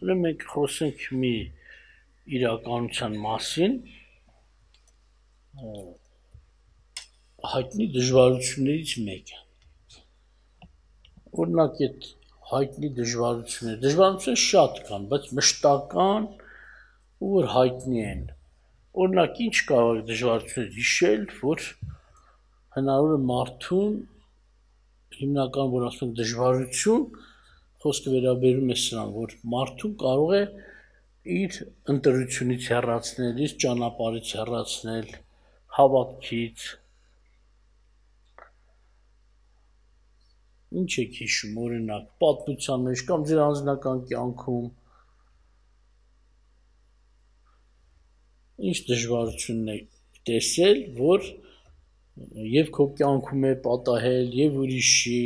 Ուրեմն մենք խոսենք մի իրականության մասին, հայտնի դժվարություններից մեկը։ Օրինակ այդ հայտնի դժվարությունները շատ կան, բայց մշտական ու որ հայտնի են։ Օրինակ ինչ կարող է դժվարություններ հիշել, որ հնարավոր է մարդուն հիմնական որ ասում են դժվարություն, խոսքը վերաբերում է սրան, որ մարդուն կարող է իր ընտրությունից հեռացնել, իր ճանապարհից հեռացնել, հավատքից։ Ինչ եք հիշում, օրինակ, պատմության մեջ կամ ձեր անձնական կյանքում ինչ դժվարությունն եք տեսել, որ եւ քո կյանքում է պատահել, եւ ուրիշի,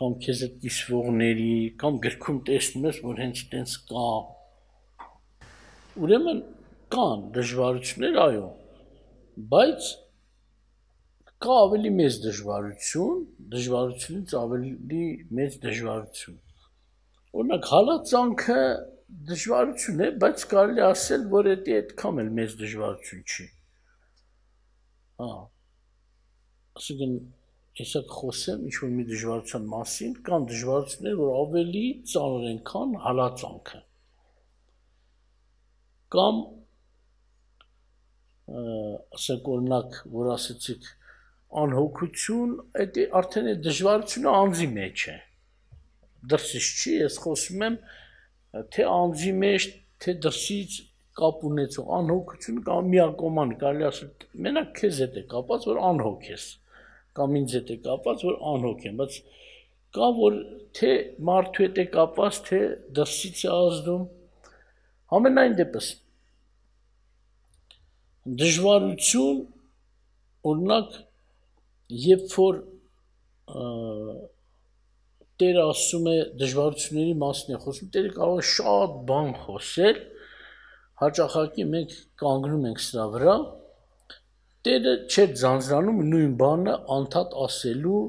կամ քեզ հետ կիսվողների, կամ գրքում տեսնում ես, որ հենց տենց կա։ Ուրեմն կան դժվարություններ, այո, բայց կա ավելի մեծ դժվարություն, դժվարությունից ավելի մեծ դժվարություն։ Օրինակ հալածանքը դժվարություն է, բայց կարելի ասել, որ դա այդքան էլ մեծ դժվարություն չի։ Այսինքն, հեսա կխոսեմ ինչ-որ մի դժվարության մասին, կան դժվարություններ, որ ավելի ծանր են, քան հալածանքը։ Կամ, ասենք օրինակ, որ ասեցիք, անհոգություն, դա արդեն է դժվարությունը անձի մեջ է։ Դրսից չի, ես խոսում եմ, թե անձի մեջ, թե դրսից կապ ունեցող անհոգություն կամ միակողման, կարելի ասել, մենակ քեզ հետ է կապված, որ անհոգ ես, կամ ինձ հետ է կապված, որ անհոգ եմ, բայց կա, որ թե մարդու հետ է կապված, թե դրսից է ազդում, ամենայն դեպս դժվարություն, օրինակ, երբ որ Տերը ասում է դժվարությունների մասին է խոսում, Տերը կարող է շատ բան խոսել, հաճախակի մենք կանգնում ենք սրա վրա, Տերը չէր ձանձրանում նույն բանը անդադ ասելու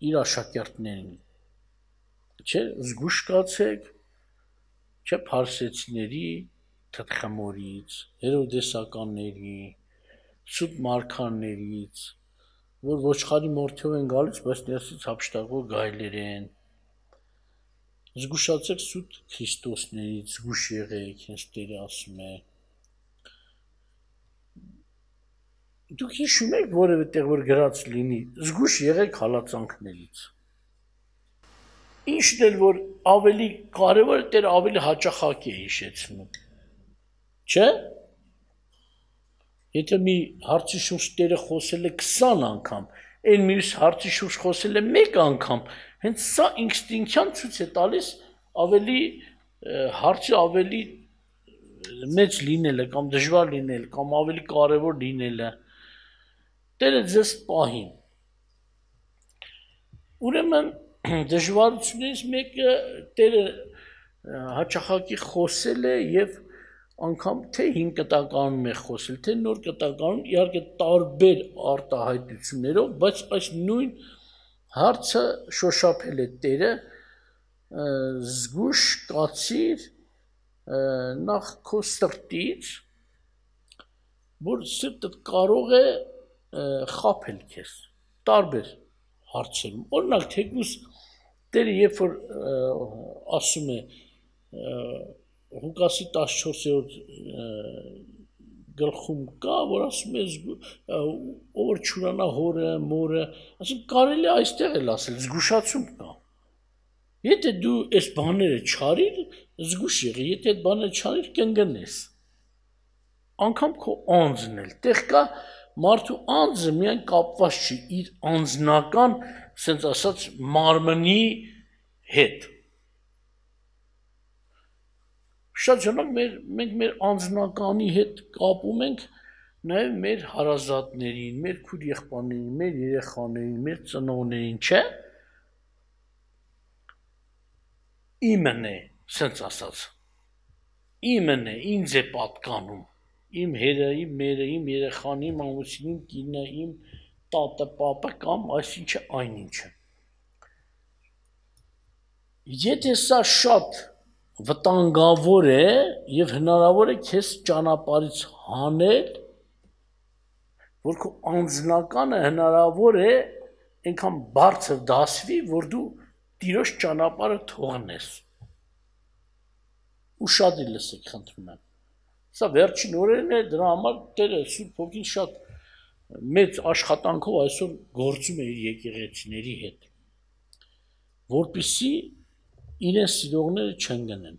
իր աշակերտներին, չէ, զգուշ կացեք, չէ, փարսեցիների, թտխմորից, հերովդեսականների, սուտ մարգարեներից, որ ոչխարի մորթով են գալիս, բայց ներսից հափշտակվող գայլեր են։ Զգուշացեք սուտ Քրիստոսներից, զգուշ եղեք, հենց Տերը ասում է։ Դուք հիշում եք որևէ տեղ որ գրած լինի, զգուշ եղեք հալածանքներից։ Ինչն էլ որ ավելի կարևոր է, Տերը ավելի հաճախակի է հիշեցնում։ Չէ՞։ Եթե մի հարցի շուրջ Տերը խոսել է 20 անգամ, այն մյուս հարցի շուրջ խոսել է 1 անգամ, հենց սա ինստինկտիվ ցույց է տալիս ավելի հարցը ավելի մեծ լինելը կամ դժվար լինելը կամ ավելի կարևոր լինելը։ Տերը ձեզ պահին։ Ուրեմն դժվարություններից մեկը Տերը հաճախակի խոսել է եւ անգամ թե 5 կտականում է խոսել, թե նոր կտականում, իհարկե տարբեր արտահայտություններով, բայց այս նույն հարցը շոշափել է Տերը, զգուշ կացիր նախ քո սրտից, որ սրտդ կարող է խաբել քեզ, տարբեր հարցերում, օրինակ թեկուզ Տերը երբ որ ասում է Ղուկասի 14-րդ գլխում կա, որ ասում է ով որ չուրանա հորը, մորը, ասում կարելի է այստեղ էլ ասել, զգուշացում կա։ Եթե դու այս բաները չարիր, զգուշ եղի, եթե այդ բաները չարիր, կընկնես։ Անկամ քո անձն էլ, տեղ կա մարդու անձը միայն կապված չի իր անձնական, ասենց ասած, մարմնի հետ։ Շատ ժամանակ մենք մեր անձնականի հետ կապում ենք նաև մեր հարազատներին, մեր քույր եղբայրներին, մեր երեխաներին, մեր ծնողներին, չէ՞։ Իմն է, ասենց ասած։ Իմն է, ինձ է պատկանում։ Իմ հերը, իմ մերը, իմ երեխան, իմ ամուսինը, իմ կինը, իմ տատը, պապը կամ այսինչը այնինչը։ Եթե սա շատ վտանգավոր է եւ հնարավոր է քեզ ճանապարհից հանել, որ քո անձնականը հնարավոր է այնքան բարձր դասվի, որ դու Տիրոջ ճանապարհը թողնես։ Ու շատ լսեք, խնդրում եմ։ Սա վերջին օրերն է, դրա համար Տերը Սուրբ Հոգին շատ մեծ աշխատանքով այսօր գործում է իր եկեղեցիների հետ, որպեսզի իրեն սիրողները չընկնեն։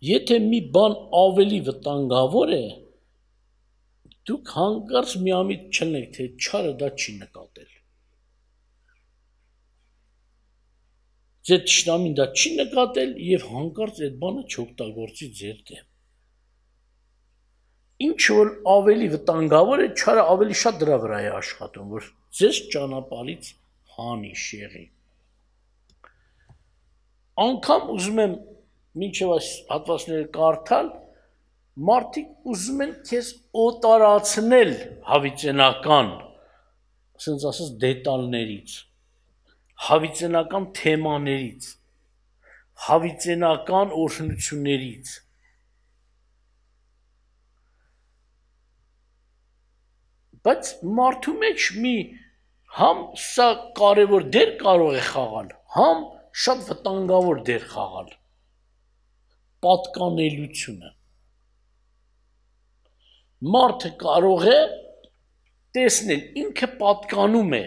Եթե մի բան ավելի վտանգավոր է, դուք հանկարծ միամիտ չլինեք, թե չարը դա չի նկատել։ Ձեր թշնամին դա չի նկատել եւ հանկարծ այդ բանը չօգտագործի ձեր դեմ։ Ինչ որ ավելի վտանգավոր է, չարը ավելի շատ դրա վրա է աշխատում, որ ձեզ ճանապարհից հանի, շեղի։ Անկամ ուզում եմ մինչև այս հատվածները կարդալ, մարդիկ ուզում են քեզ օտարացնել հավիտենական, ասենց ասած դետալներից, հավիտենական թեմաներից, հավիտենական օրհնություններից։ Բայց մարդու մեջ մի համ սա կարևոր դեր կարող է խաղալ, համ շատ վտանգավոր դեր խաղալ։ Պատկանելությունը։ Մարդը կարող է տեսնել ինքը պատկանում է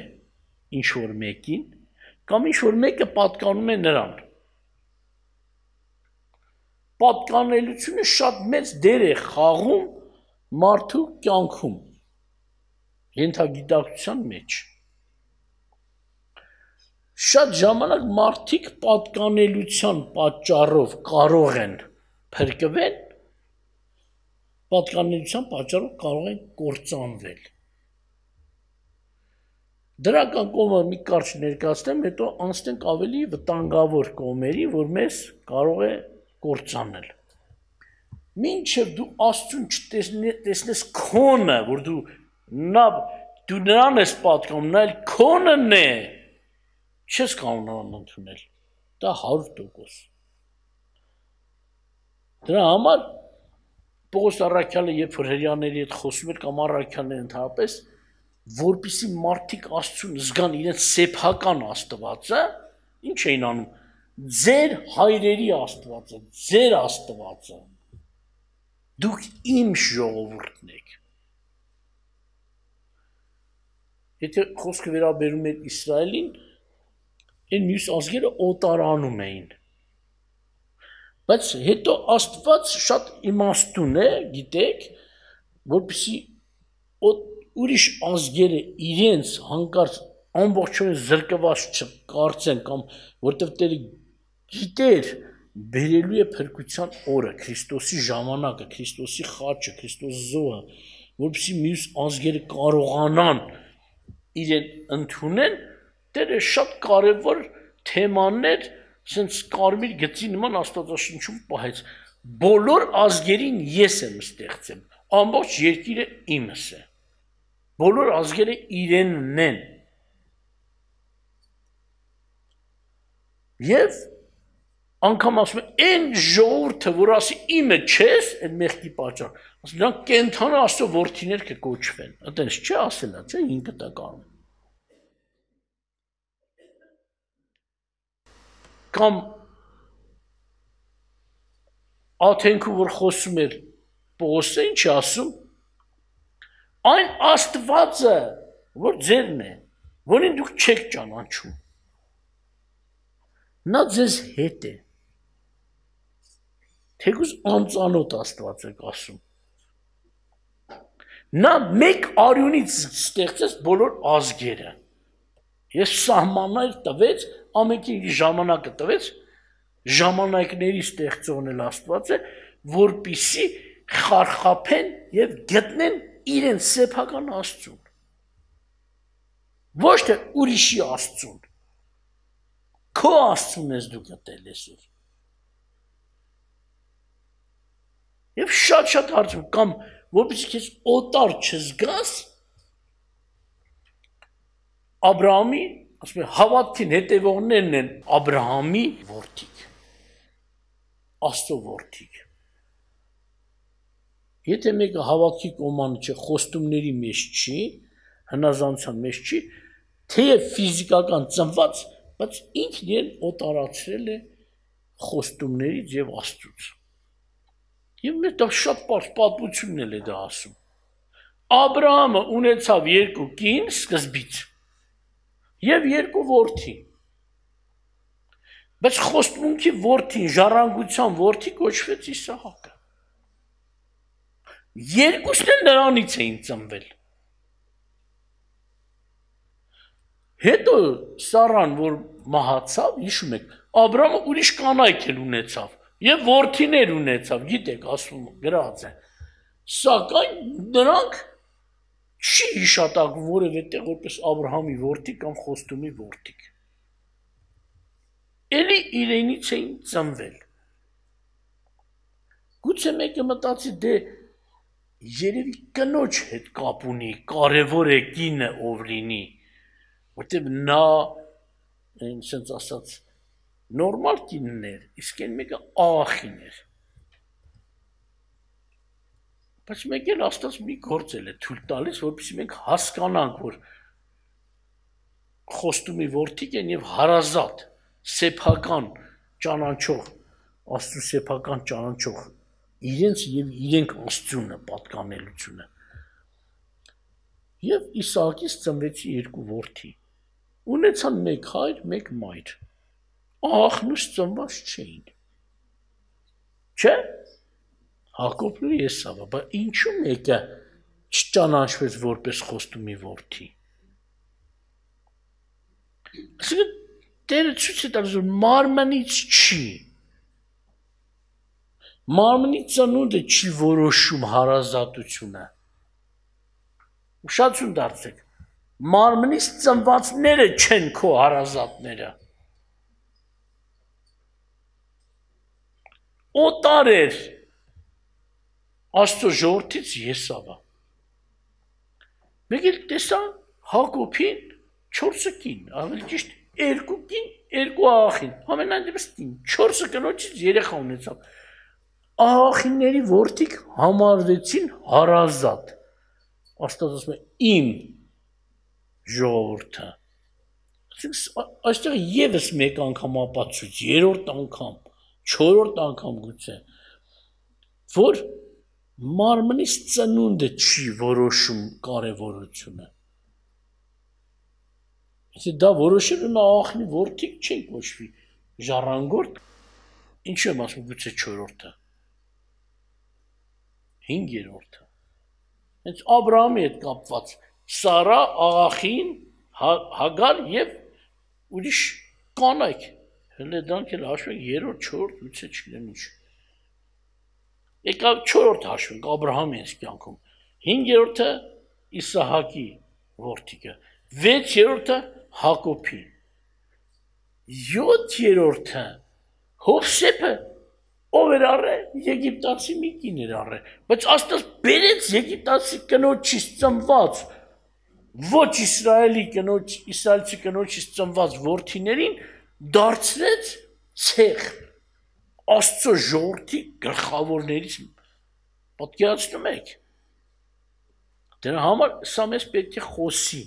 ինչ որ մեկին, կամ ինչ որ մեկը պատկանում է նրան։ Պատկանելությունը շատ մեծ դեր է խաղում մարդու կյանքում, ենթագիտակցության մեջ։ Շատ ժամանակ մարդիկ պատկանելության պատճառով կարող են փրկվել, պատկանելության պատճառով կարող են կործանվել։ Դրական կողմը մի կարճ ներկայացնեմ, հետո անցնենք ավելի վտանգավոր կողմերի, որ մեզ կարող է կործանել։ Մինչև դու Աստծուն չտեսնես քոնը, որ դու նրան ես պատկանում, նա էլ քոնն է, չես կարող նրան ընդունել, դա 100%։ Դրա համար Պողոս առաքյալը, երբ որ հրեաների հետ խոսում էր կամ առաքյալները ընդհանրապես, որպեսզի մարդիկ Աստծուն զգան իրենց սեփական Աստվածը, ինչ էին անում, ձեր հայրերի Աստվածը, ձեր Աստվածը, դուք իմ ժողովուրդն եք։ Եթե խոսքը վերաբերում է Իսրայելին, այն մյուս ազգերը օտարանում էին։ Բայց հետո Աստված շատ իմաստուն է, գիտեք, որպեսզի ուրիշ ազգերը իրենց հանկարծ ամբողջովին զրկված չկարծեն, կամ որտեղ Տերը գիտեր բերելու է փրկության օրը, Քրիստոսի ժամանակը, Քրիստոսի խաչը, Քրիստոսի զոհը, որպեսզի մյուս ազգերը կարողանան իրեն ընդունել, Տերը շատ կարևոր թեմաներ, ասենց կարմիր գծի նման Աստվածաշնչում պահեց։ Բոլոր ազգերին ես եմ ստեղծել, ամբողջ երկիրը իմս է։ Բոլոր ազգերը իրենն են։ Եվ անգամ ասում է, այն ժողովուրդը, որ ասի իմը չես, այն մեղքի պատճառ, ասում նրանք կենդանի Աստծո որդիներ կկոչվեն։ Այդպես չէ ասելա, չէ, ինքը դա կանում։ Կամ Աթենքում, որ խոսում էր Պողոսը, ինչ է ասում, այն Աստվածը, որ ձերն է, որին դուք չեք ճանաչում, նա ձեզ հետ է, թեկուզ անծանոթ Աստված եք ասում, նա մեկ արյունից ստեղծեց բոլոր ազգերը, ես սահմաններ տվեց, ամենքին ժամանակը տվեց, ժամանակների ստեղծողն էլ Աստված է, որպեսզի խարխափեն եւ գտնեն իրեն սեփական Աստծուն։ Ոչ թե ուրիշի Աստծուն։ Քո Աստծուն ես դու գտել այսօր։ Եվ շատ հարցում կամ որպեսզի քեզ օտար չզգաս, Աբրահամի ասում են հավատքին հետևողներն են Աբրահամի որդիք, Աստծո որդիք։ Եթե մեկը հավատքի կոմանը չէ, խոստումների մեջ չի, հնազանդության մեջ չի, թեև ֆիզիկական ծնված, բայց ինքն իրեն օտարացրել է խոստումներից եւ Աստծուց։ Եվ մեր դա շատ պարզ պատմությունն է դա ասում։ Աբրահամը ունեցավ 2 կին սկզբից եւ 2 որդի։ Բայց խոստմունքի որդին, ժառանգության որդի կոչվեց Իսահակը։ Երկուսն էլ նրանից էին ծնվել։ Հետո Սարան, որ մահացավ, հիշում եք, Աբրահամը ուրիշ կանայք էլ ունեցավ եւ որդիներ ունեցավ, գիտեք, ասում գրած է։ Սակայն նրանք չի հիշատակվում որևէ տեղ որպես Աբրահամի որդի կամ խոստումի որդիք։ Էլի իրենից էին ծնվել։ Գուցե մեկը մտածի դե երևի կնոջ հետ կապ ունի, կարևոր է կինը ով լինի, որտեղ նա sense ասած նորմալ կինն էր, իսկ այն մեկը աղախին էր։ Բայց մեկ էլ Աստված մի գործել է թույլ տալիս, որպեսզի մենք հասկանանք, որ խոստումի որդիք են եւ հարազատ, սեփական ճանաչող, Աստծո սեփական ճանաչող իրենց եւ իրենք Աստծունը պատկանելությունը։ Եվ Իսահակից ծնվեցի 2 որդի։ Ունեցան 1 հայր, 1 մայր։ Աղախնուց ծնված չէին։ Չէ՞։ Հակոբն ու Եսավը, բայց ինչու մեկը չճանաչվեց որպես խոստումի որդի։ Այսինքն Տերը ցույց է տալիս, որ մարմնից չի։ Մարմնի ծնունդը չի որոշում հարազատությունը։ Ուշադրություն դարձեք։ Մարմնից ծնվածները չեն քո հարազատները։ Օտար էր Աստծո ժողովրդից Եսավը։ Մեկ էլ տեսա Հակոբին 4 կին, ավելի ճիշտ 2 կին, 2 աղախին, ամենայն դեպս 4 կնոջից երեխա ունեցավ։ Աղախինների որդիք համարվեցին հարազատ։ Աստված ասում է իմ ժողովուրդը։ Այստեղ եւս մեկ անգամ ապացույց, 3-րդ անգամ, 4-րդ անգամ գուցե, որ մարմնից ծնունդը չի որոշում կարևորությունը։ Եթե դա որոշել ու աղախնի որդիք չեն կոչվի, ժառանգորդ, ինչու եմ ասում գուցե 4-րդը, 5-րդը։ Հենց Աբրահամի հետ կապված Սարա, աղախին, Հագար եւ ուրիշ կանայք, հենց դրանք էլ հաշվենք 3-րդ, 4-րդ, գուցե չգիտեմ ինչ։ Եկավ 4-րդ հաշվենք Աբրահամի այս կյանքում, 5-րդը Իսահակի որդիքը, 6-րդը Հակոբի, 7-րդը Հովսեփը, ով էր առել, եգիպտացի մի կին էր առել, բայց Աստված բերեց եգիպտացի կնոջից ծնված, ոչ իսրայելցի կնոջից ծնված որդիներին դարձրեց ցեղ, Աստծո ժողովրդի գլխավորներից պատկերացնում եք։ Դրա համար սա մեզ պետք է խոսի։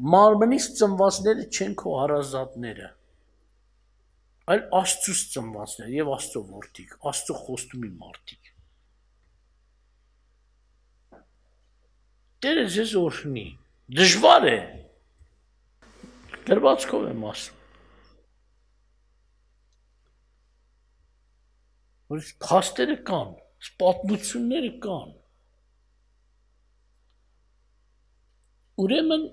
Մարմնից ծնվածները չեն քո հարազատները, այլ Աստծուց ծնվածները եւ Աստծո որդիք, Աստծո խոստումի մարդիկ։ Տերը ձեզ օրհնի։ Դժվար է։ Գրվածքով եմ ասում։ Որ փաստերը կան, պատմությունները կան։ Ուրեմն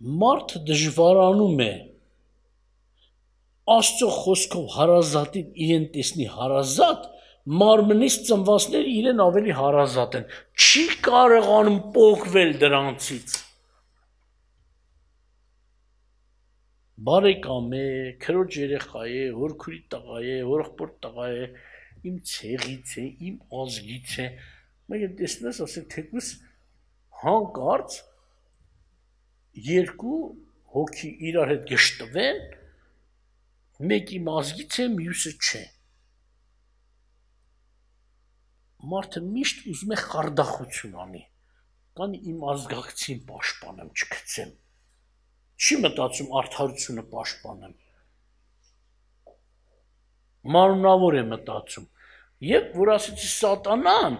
մարդը դժվարանում է Աստծո խոսքով հարազատին իրեն տեսնի հարազատ, մարմնից ծնվածները իրեն ավելի հարազատ են, չի կարողանում պոկվել դրանցից։ Բարեկամ է, քրոջ երեխա է, հորքուրի տղա է, հորեղբոր տղա է, իմ ցեղից է, իմ ազգից է, մեկ էլ տեսնես ասել թեկուս հանկարծ 2 հոգի իրար հետ գշտվեն, մեկի մազգից է, մյուսը չէ։ Մարդը միշտ ուզում է խարդախություն անի, կան իմ ազգակցին պաշտպանեմ, չգցեմ, չի մտածում արդարությունը պաշտպանեմ, մանունավոր է մտածում, և որ ասեցի սատանան,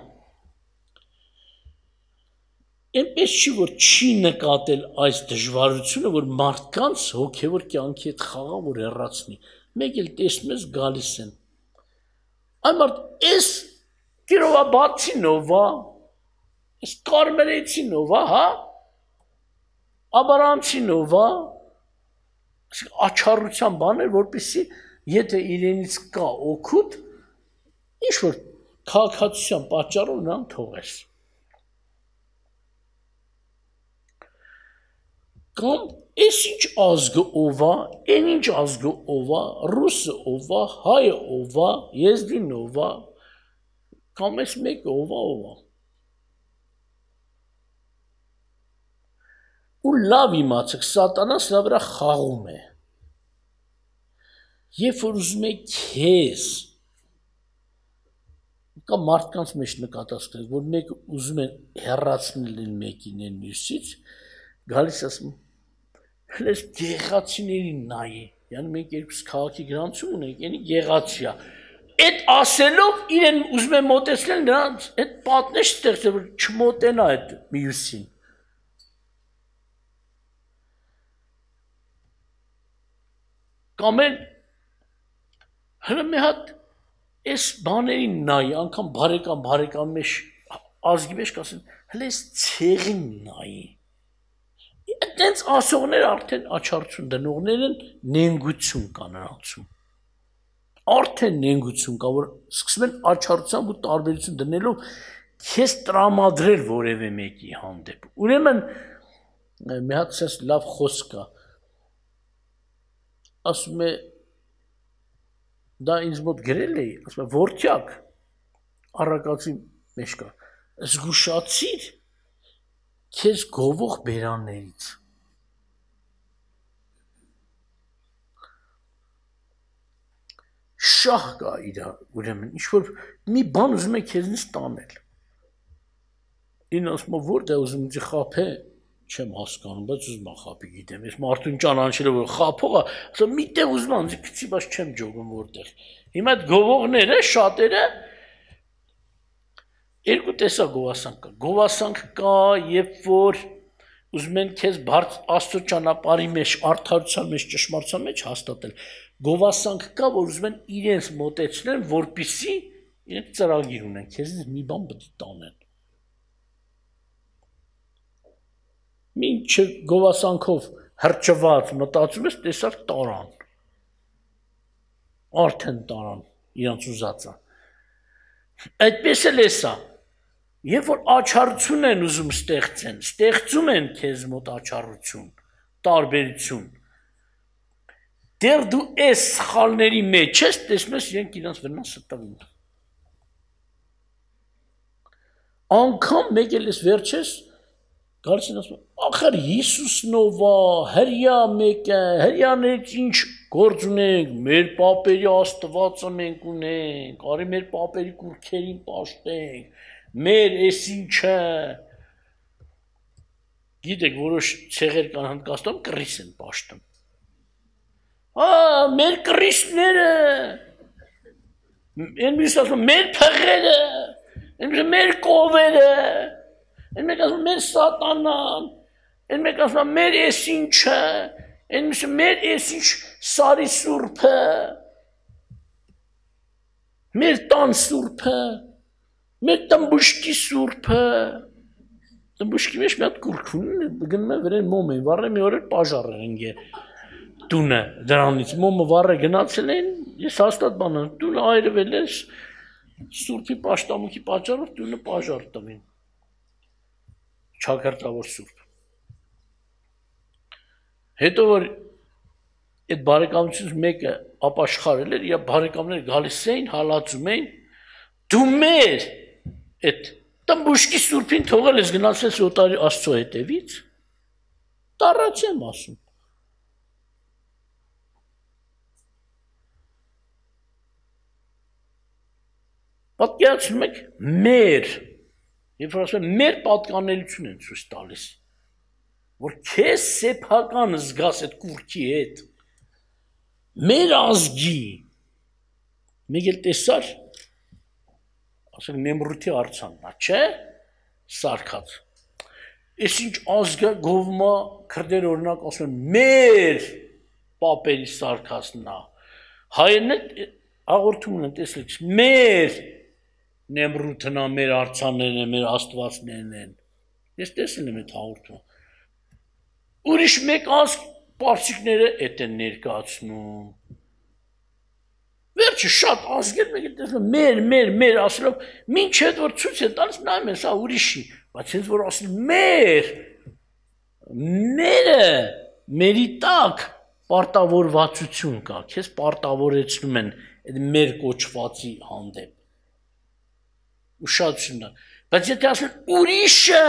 այնպես չի, որ չի նկատել այս դժվարությունը, որ մարդկանց հոգևոր կյանքի հետ խաղա, որ հեռացնի, մեկ էլ տեսնում ես գալիս են, այն մարդ, ես կիրովաբացինով, ես կարմերեցինով, հա, աբարանցինով, աչառության բաներ, որպեսզի եթե իրենից կա օգուտ, ինչ-որ քաղաքացիության պատճառով նրան թողես։ Կամ ես ինչ ազգը ով է, այն ինչ ազգը ով է, ռուսը ով է, հայը ով է, եզդին ով է, կամ ես մեկը ով է։ Ու լավ իմացեք, սատանան սրա վրա խաղում է։ Երբ որ ուզում է քեզ, կամ մարդկանց մեջ նկատած կրեք, որ մեկը ուզում է հեռացնել մեկին են մյուսից, գալիս ասում, հենց գեղացիներին նայի, յանի մենք երկուս քաղաքի գրանցում ունենք, յանի գեղացի է, այդ ասելով իրեն ուզում է մոտեցնել նրանց, այդ պատնեշ ստեղծել, որ չմոտենա այդ մյուսին։ Կամ էլ հրը մի հատ այս բաներին նայի, անգամ բարեկամ մեջ ազգի մեջ կասեն, հլե այս ցեղին նայի։ Այդտենց ասողները արդեն աչառություն դնողներ են, նենգություն կա նրանցում։ Արդեն նենգություն կա, որ սկսում են աչառությամբ ու տարբերություն դնելով քեզ տրամադրել որևէ մեկի հանդեպ։ Ուրեմն մի հատ սենց լավ խոսք կա։ Ասում է դա ինձ մոտ գրել էի, ասում է որդյակ առակացի մեջ կա, զգուշացիր քեզ գովող բերաններից։ Շահ կա իրար, ուրեմն, ինչ-որ մի բան ուզում է քեզնից տանել։ Ինձ ասում է որտե ուզում ինձ խաբե, չեմ հասկանում, բայց ուզում եմ խաբի գիտեմ, ես մարդուն ճանաչել որ խաբող է, ասում միտեղ ուզում եմ ինձ գցի, բայց չեմ ջոգում որտեղ։ Հիմա այդ գովողները, շատերը երկու տեսակ գովասանք կա։ Գովասանք կա, երբ որ ուզում են քեզ բարձ Աստծո ճանապարհի մեջ, արդարության մեջ, ճշմարտության մեջ հաստատել։ Գովասանք կա, որ ուզում են իրենց մոտեցնել, որպեսզի իրենք ծրագիր ունեն, քեզից մի բան պետք է տանեն։ Մինչ գովասանքով հրճված մտածում ես, տեսար տարան։ Արդեն տարան, իրանց ուզածը։ Այդպես էլ է սա։ Երբ որ աչառություն են ուզում ստեղծեն, ստեղծում են քեզ մոտ աչառություն, տարբերություն։ Դեռ դու այս սխալների մեջ ես, տեսնում ես իրենք իրանց վնասը տվին։ Անգամ մեկ էլ ես վերջես գալիս են ասում, ախր Հիսուսն ով է, հրյա մեկը, հրյաներից ինչ գործ ունենք, մեր պապերի Աստվածը մենք ունենք, արի մեր պապերի կուռքերին պաշտենք, մեր էս ինչը։ Գիտեք, որոշ ցեղեր կան Հնդկաստանում կռիս են պաշտում։ Մեր կռիսները, են մյուս ասում, մեր փղերը, մեր կովերը, են մեկ ասում մեր սատանան, են մեկ ասում մեր էս ինչը, են մյուսը մեր էս ինչ սարի սուրբը, մեր տան սուրբը, մեր տմբուշկի սուրբը, տմբուշկի մեջ մի հատ կուրք ունեն, գնում են վրեն մոմ են, վառը մի օր էլ պաժար են գե տունը դրանից, մոմը վառը գնացել են, ես հաստատ բանան, տունը այրվել ես, սուրբի պաշտամունքի պատճառով տունը պաժար տվին, չակրտավոր սուրբ։ Հետո որ այդ բարեկամությունից մեկը ապաշխարել էր, իր բարեկամները գալիս էին, հալածում էին, դու մեր այդ տմբուշկի սուրբին թողել ես գնացել օտարի Աստծո հետևից, տառած եմ ասում, Պատկերացնում եք մեր, երբ որ ասում եմ մեր պատկանելություն են ցույց տալիս, որ քեզ սեփական զգաս այդ կուրքի հետ, մեր ազգի, մեկ էլ տեսար, ասենք Նեմրութի արձանն, չէ, սարքած, ես ինչ ազգը գովմա քրդեր օրինակ ասում են մեր պապերի սարքածն է, հայերն հաղորդումն են տեսլիք, մեր Նեմրութն է, մեր արձաններն են, մեր աստվածներն են, ես տեսել եմ այդ հաղորդումը, ուրիշ մեկ ազգ պարսիկները էդ են ներկայացնում, վերջը շատ ազգեր մեկ է տեսնում, մեր ասելով, մինչ հետ որ ցույց է տալիս նայում են, սա ուրիշի, բայց հենց որ ասել մերը, մերի տակ պարտավորվածություն կա, քեզ պարտավորեցնում են այդ մեր կոչվածի հանդեպ, ուշադրություն է, բայց եթե ասեն ուրիշը,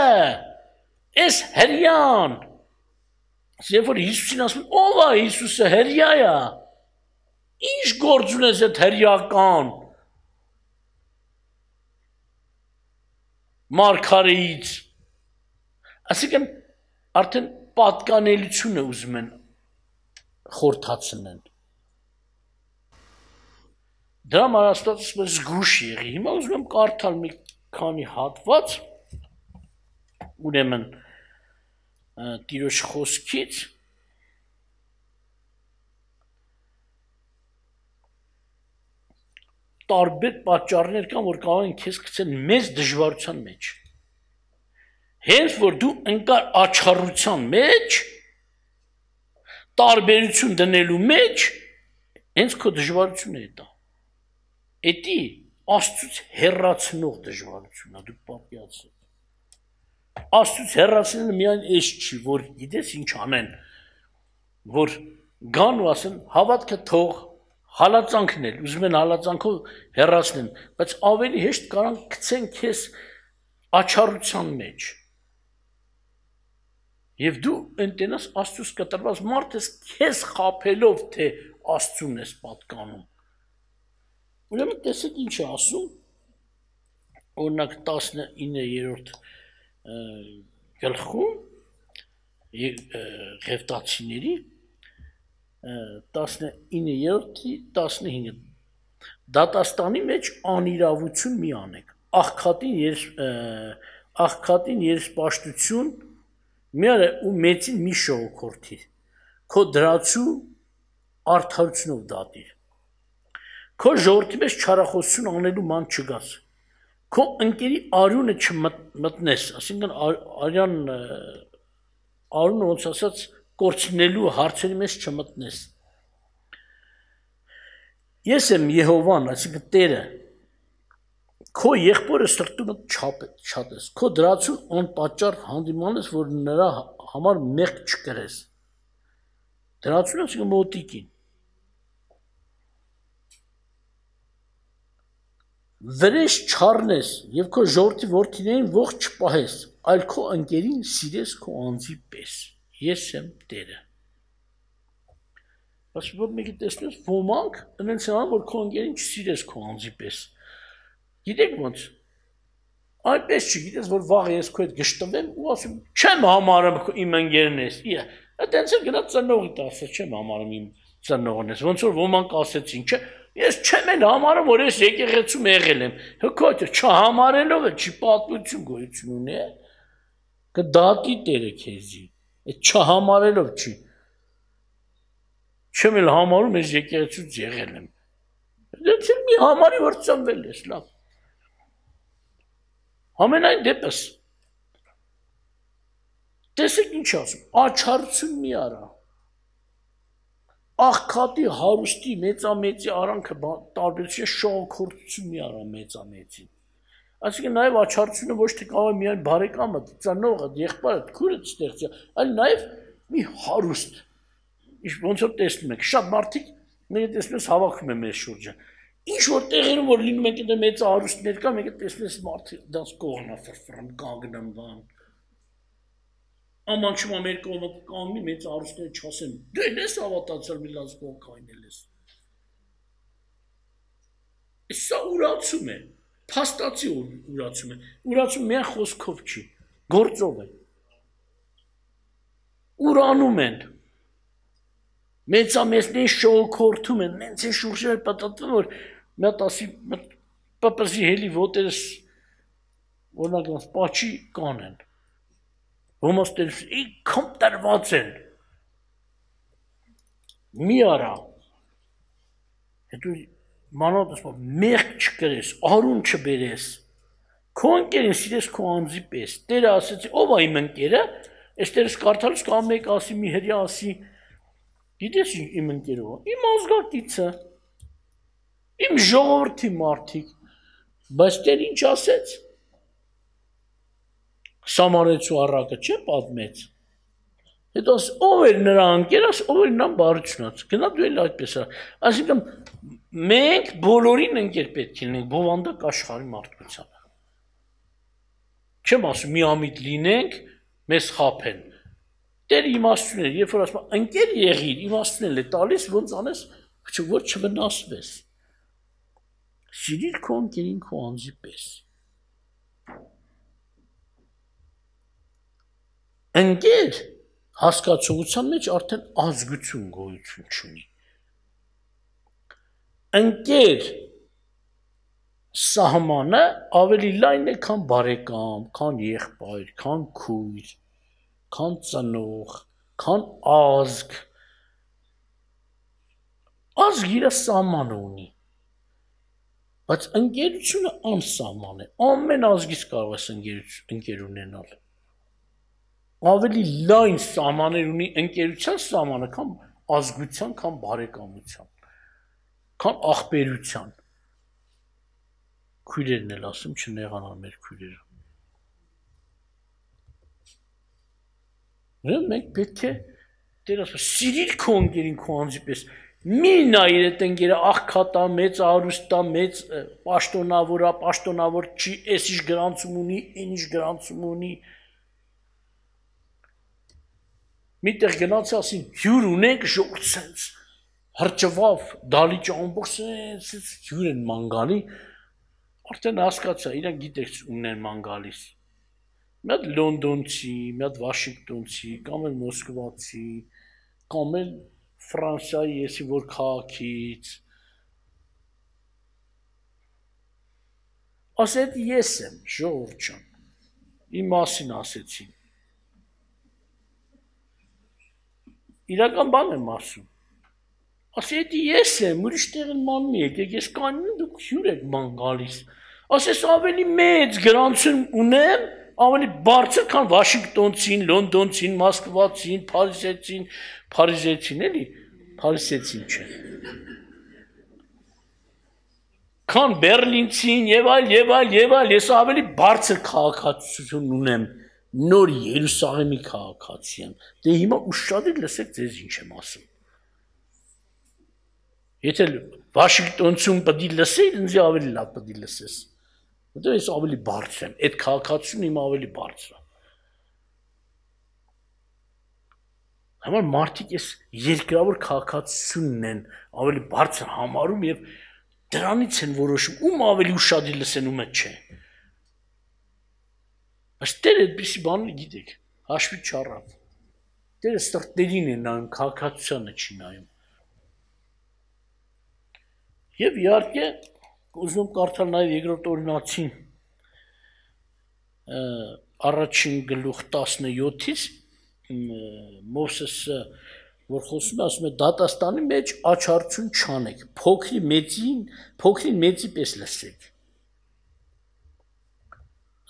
այս հրյան, երբ որ Հիսուսին ասում, ով է Հիսուսը հրյա է, ինչ գործ ունես այդ հրյական մարգարեից, այսինքն արդեն պատկանելությունը ուզում են խորհրդացնեն։ Դրա համար Աստվածը զգուշ եղի։ Հիմա ուզում եմ կարդալ մի քանի հատված, ուրեմն Տիրոջ խոսքից տարբեր պատճառներ կան, որ կարող են քեզ գցել մեծ դժվարության մեջ։ Հենց որ դու ընկար աչառության մեջ, տարբերություն դնելու մեջ, հենց քո դժվարությունը է դա։ Էդի Աստծուց հեռացնող դժվարությունն է, դու պատկերացրու։ Աստծուց հեռացնելը միայն էս չի, որ գիտես ինչ անեն, որ գան ու ասեն հավատքը թող հալածանքն էլ, ուզում են հալածանքով հեռացնեն, բայց ավելի հեշտ կարան գցեն քեզ աչառության մեջ։ Եվ դու ընտենաս Աստծուց կտրված մարդ ես քեզ խաբելով, թե Աստծուն ես պատկանում։ Ուրեմն տեսեք ինչ է ասում, օրինակ 19-րդ գլխում Ղևտացիների 19-րդի 15 դատաստանի մեջ անիրավություն մի անեք, աղքատին երեսպաշտություն մի արա ու մեծին մի շողոքորթի, քո դրացու արդարությունով դատիր, քո ժողովրդի մեջ չարախոսություն անելու ման չգաս, քո ընկերի արյունը չմտնես, այսինքն արյունը ոնց ասած կորցնելու հարցերի մեջ չմտնես։ Ես եմ Եհովան, այսինքն Տերը, քո եղբորը սրտումը չատես, քո դրացուն անպատճառ հանդիմանես, որ նրա համար մեղք չկրես։ Դրացուն այսինքն մոտիկին։ Վրեժ չառնես եւ քո ժողովրդի որդիներին ողջ չպահես, այլ քո ընկերին սիրես քո անձի պես։ Ես եմ Տերը։ Բայց որ մեկը տեսնես ոմանք այնց են անում, որ քո ընկերին չսիրես քո անձի պես։ Գիտեք ոնց։ Այնպես չգիտես, որ վաղ ես քո հետ գշտվեմ ու ասում չեմ համարում իմ ընկերն ես։ Այդտենց էլ գնաց ծնողի տասը չեմ համարում իմ ծնողն ես։ Ոնց որ ոմանք ասեցին, չէ, ես չեմ էլ համարում, որ ես եկեղեցում եղել եմ։ Հոգոտ չհամարելով է, չի պատմություն գոյություն ունի։ Կդատի Տերը քեզի։ Այդ չհամարելով չի։ Չեմ էլ համարում, ես եկեղեցուց եղել եմ։ Դից էլ մի համարի, որ ծնվել ես, լավ։ Ամենայն դեպս, տեսեք ինչ ասում, աչառություն մի արա, աղքատի հարուստի մեծամեծի արանքը տարբերություն շողոքորթություն մի արա մեծամեծին, այսինքն նաև աչառությունը ոչ թե կարող է միայն բարեկամը, ծնողը, եղբայրը, քուրդ ստեղծի, այլ նաև մի հարուստ, ոնց որ տեսնում եք, շատ մարդիկ մեկը տեսնում ես հավաքում է մեր շուրջը, ինչ որ տեղերում որ լինում եք այդ մեծ հարուստներ կա, մեկը տեսնում ես մարդը դրանց կողնա ֆրֆրում կանգնում բան։ Աման չմա մեր կողմը կանգնի մեծ հարուստները չասեն, դու ես հավատացել մի լավ կողք այնել ես։ Սա ուրացում է։ Փաստացի ուրացում է։ Ուրացում միայն խոսքով չի, գործով է։ Ուրանում են։ Մեծամեծներին շողոքորթում են, նենց են շուրջերը պատտվում, որ մի հատ ասի պպզի հելի ոտերս օրինակ պաչի կանեն։ Ոմաս տերս իքամ տրված են։ Մի արա։ Հետո մանոտ ասում մեղք չկրես, արուն չբերես։ Քո ընկերին սիրես քո անձի պես։ Տերը ասեց, ով է իմ ընկերը, այստեղս կարդալուց կամ մեկ ասի մի հրյա ասի, գիտես իմ ընկերով, իմ ազգակիցը, իմ ժողովրդի մարդիկ, բայց Տեր ինչ ասեց։ Սամարեցու առակը չէ պատմեց։ Հետո ով էր նրա ընկերս, ով էր նա բարությունած։ Գնա դու էլ այդպես է։ Այսինքն մենք բոլորին ընկեր պետք է լինենք բովանդակ աշխարհի մարդկությանը։ Չեմ ասում միամիտ լինենք, մեզ խաբեն։ Տեր իմաստուն է, երբ որ ասում ընկեր եղիր, իմաստուն է տալիս, ոնց անես, որ չվնասվես։ Սիրիր քո ընկերին քո անձի պես։ Ընկեր հասկացողության մեջ արդեն ազգություն գոյություն չունի։ Ընկեր սահմանը ավելի լայն է, քան բարեկամ, քան եղբայր, քան քույր, քան ծնող, քան ազգ։ Ազգ իր սահմանը ունի։ Բայց ընկերությունը անսահման է։ Ամեն ազգից կարող ես ընկեր ունենալ։ Ավելի լայն սահմաններ ունի ընկերության սահմանը, քան ազգության, քան բարեկամության, քան ախպերության։ Քույրերն էլ ասում չնեղանան մեր քույրերը։ Մենք պետք է Տեր ասում սիրիր քո ընկերին քո անձի պես։ Մի նայիր այդ ընկերը աղքատա, մեծ արուստա, մեծ պաշտոնավոր, պաշտոնավոր չի, էս ինչ գրանցում ունի, այն ինչ գրանցում ունի։ Միտեղ գնաց ասին հյուր ունենք ժողովուրդ սենց հրճվավ դալիճ ամբողջ սենց հյուր են ման գալի արդեն հասկացա իրանք գիտեք ունեն ման գալիս մի հատ լոնդոնցի, մի հատ վաշինգտոնցի, կամ էլ մոսկվացի, կամ էլ Ֆրանսիայի եսի որ քաղաքից ասեց ես եմ ժողովուրդ ջան իմ մասին ասեցին իրական բան եմ ասում։ Ասեց ես եմ, ուրիշ տեղն ման մի եկեք, ես կանին դուք հյուր եք ման գալիս։ Ասես ավելի մեծ գրանցում ունեմ, ավելի բարձր, քան Վաշինգտոնցին, Լոնդոնցին, Մոսկվացին, Փարիզեցին էլի, Փարիզեցին չէ։ Քան Բերլինցին եւ այլ, ես ավելի բարձր քաղաքացիություն ունեմ։ Նոր Երուսաղեմի քաղաքացի եմ։ Դե հիմա ուշադիր լսեք ձեզ ինչ եմ ասում։ Եթե Վաշինգտոնցում պետք է լսեի, ինձ ավելի լավ պետք է լսես։ Որտեղ ես ավելի բարձր եմ, այդ քաղաքացիությունը իմ ավելի բարձր է։ Համար մարդիկ էս երկրավոր քաղաքացիությունն են ավելի բարձր համարում եւ դրանից են որոշում ում ավելի ուշադիր լսեն ումը չէ։ Բայց Տերը այդպիսի բան գիտեք, հաշվի չառավ։ Տերը սրտերին է նայում, քաղաքացիությանը չի նայում։ Եվ իհարկե ուզում կարդալ նաև երկրորդ օրինացին առաջին գլուխ 17-ից Մովսեսը որ խոսում է, ասում է դատաստանի մեջ աչառություն չանեք, փոքրին մեծի պես լսեք։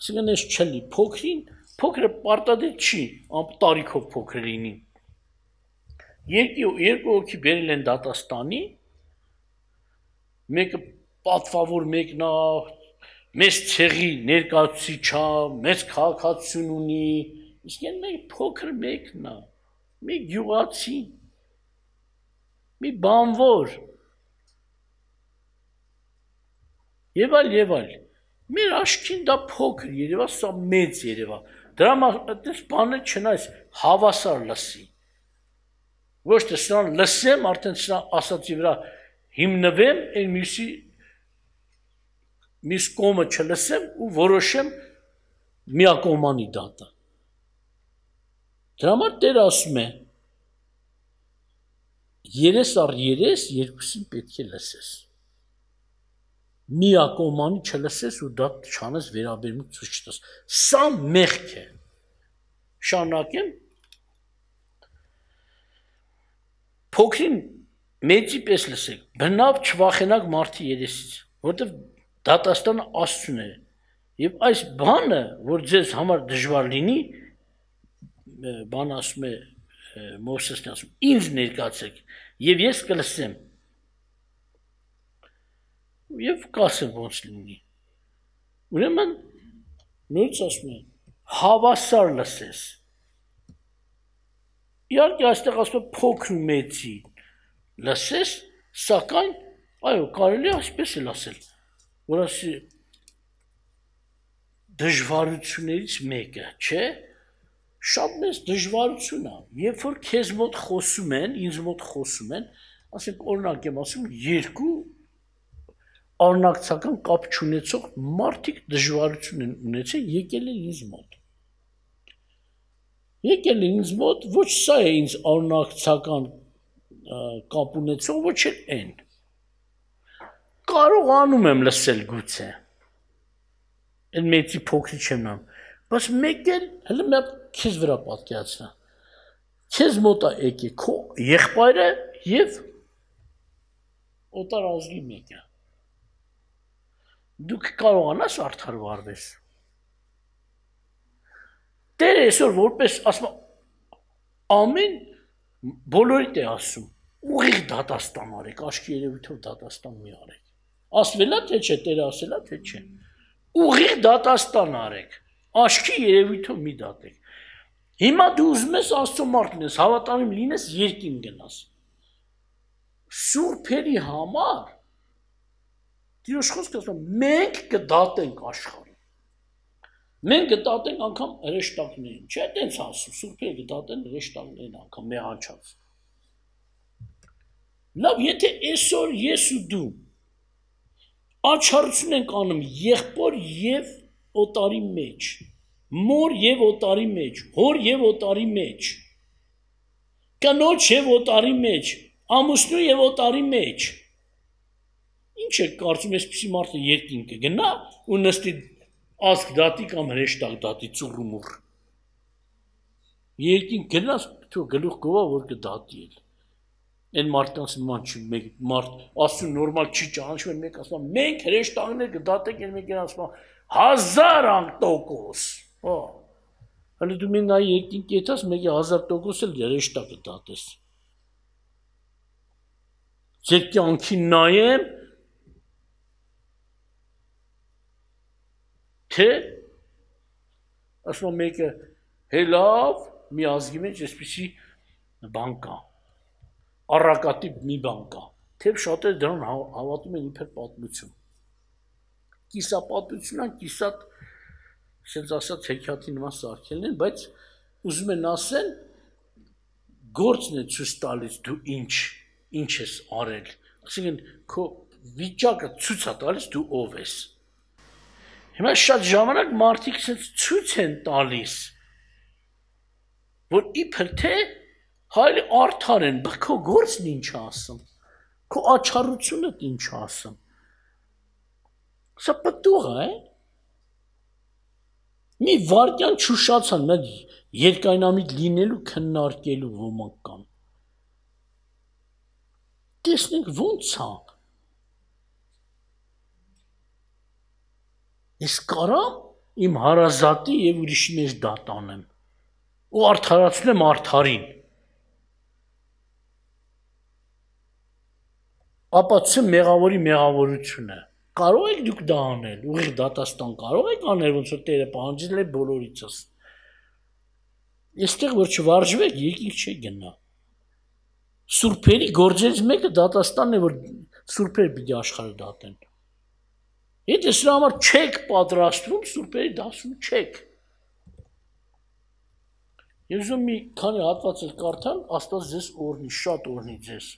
Այսինքն ես չլի փոքրը պարտադիր չի, տարիքով փոքր լինի։ Երկու հոգի բերել են դատաստանի, մեկը պատվավոր մեկն է, մեծ ցեղի ներկայացուցիչ է, մեծ քաղաքացիություն ունի, իսկ այն մեկ փոքր մեկն է, մի գյուղացի, մի բանվոր։ Եվ այլ։ Մեր աչքին դա փոքր երևա, սա մեծ երևա։ Դրա այդպես բանը չնայես հավասար լսի։ Ոչ թե սրան լսեմ, արդեն սրա ասացի վրա հիմնվեմ, այն մյուսի մյուս կողմը չլսեմ ու որոշեմ միակողմանի դատը։ Դրա համար Տերը ասում է. երես առ երես երկուսին պետք է լսես։ Միակողմանի չլսես ու դատ չանես վերաբերմունք ցույց չտաս։ Սա մեղք է։ Շարունակեմ։ Փոքրին մեծի պես լսեք, բնավ չվախենակ մարդի երեսից, որտեղ դատաստանը Աստծուն է։ Եվ այս բանը, որ ձեզ համար դժվար լինի, բան ասում է Մովսեսն ասում, ինձ ներկայացեք, եւ ես կլսեմ։ Եվ կասեմ ոնց լինի։ Ուրեմն նույնց ասում է, հավասար լսես։ Իհարկե այստեղ ասում է փոքր ու մեծի լսես, սակայն այո, կարելի է այսպես էլ ասել, որ ասի դժվարություններից մեկը, չէ՞, շատ մեծ դժվարություն է, երբ որ քեզ մոտ խոսում են, ինձ մոտ խոսում են, ասենք օրինակ եմ ասում, երկու արնակցական կապ չունեցող մարդիկ դժվարություն են ունեցել, եկել են ինձ մոտ։ Եկել են ինձ մոտ, ոչ սա է ինձ արնակցական կապ ունեցող, ոչ էլ են։ Կարողանում եմ լսել գուցե։ Այն մեծի փոքրի չեմ նամ, բայց մեկ էլ հələ մի հատ քեզ վրա պատկերացնա։ Քեզ մոտ է եկի քո եղբայրը եւ օտար ազգի մեկը։ Դուք կարողանաս արդար վարվես։ Տերը այսօր որպես ասում ամեն բոլորիդ է ասում, ուղիղ դատաստան արեք, աչքի երևույթով դատաստան մի արեք։ Ասվելա թե չէ, Տերը ասելա թե չէ։ Ուղիղ դատաստան արեք, աչքի երևույթով մի դատեք։ Հիմա դու ուզում ես Աստծո մարդ լինես, հավատարիմ լինես, երկին գնաս։ Սուրբերի համար Տիրոջ խոսքը ասում է, մենք կդատենք աշխարհին։ Մենք կդատենք անգամ հրեշտակներին, չէ՞ տենց ասում, սուրբերը կդատեն հրեշտակներին անգամ մեհանչած։ Լավ, եթե այսօր ես ու դու աչառություն ենք անում եղբոր եւ օտարի մեջ, մոր եւ օտարի մեջ, հոր եւ օտարի մեջ, կնոջ եւ օտարի մեջ, ամուսնու եւ օտարի մեջ, ինչ է կարծում այսպիսի մարդը երկին կգնա ու նստի ազգ դատի կամ հրեշտակ դատի ծուռումուռ։ Երկին գնաս թող գլուխ գովա որ կդատի էլ։ Այն մարդկանց նման չի մեկ մարդ ասում նորմալ չի ճանաչում մեկ ասում մենք հրեշտակներ կդատենք այն մեկն ասում 1000%։ Հա։ Հələ դու մեն նայ երկին կետաս մեկի 1000% էլ հրեշտակ կդատես։ Ձեր կյանքին նայեմ թե ասում մեկը հելավ մի ազգի մեջ այսպիսի բան կա առակատիպ մի բան կա թե շատերը դրան հավատում են իբր պատմություն կիսապատմությունն կիսատ ասենց ասած հեքիաթի նման սարքելն են բայց ուզում են ասեն գործն է ցույց տալիս դու ինչ ես արել ասենք քո վիճակը ցույց է տալիս դու ով ես Հիմա շատ ժամանակ մարդիկ ցույց են տալիս, որ իբր թե հայլի արդար են, բայց քո գործն ինչ ասում, քո աչառությունը ինչ ասում։ Սա պտուղ է։ Մի վարկյան չուշացան, նա երկայնամիտ լինելու քննարկելու ոմանք կան։ Տեսնենք ոնց է։ Ես կարամ իմ հարազատի եւ ուրիշի մեջ դատ անեմ ու արդարացնեմ արդարին ապացուցեմ մեղավորի մեղավորությունը կարող եք դուք դա անել ուղիղ դատաստան կարող եք անել ոնց որ Տերը պահանջել է բոլորիցս այստեղ որ չվարժվեք եկիք չի գնա սուրբերի գործերից մեկը դատաստանն է որ սուրբերը պիտի աշխարհը դատեն Եթե սրա համար չեք պատրաստվում, սուրբերի դասում չեք։ Ես ուզում մի քանի հատված էլ կարդալ, Աստված ձեզ օրհնի, շատ օրհնի ձեզ։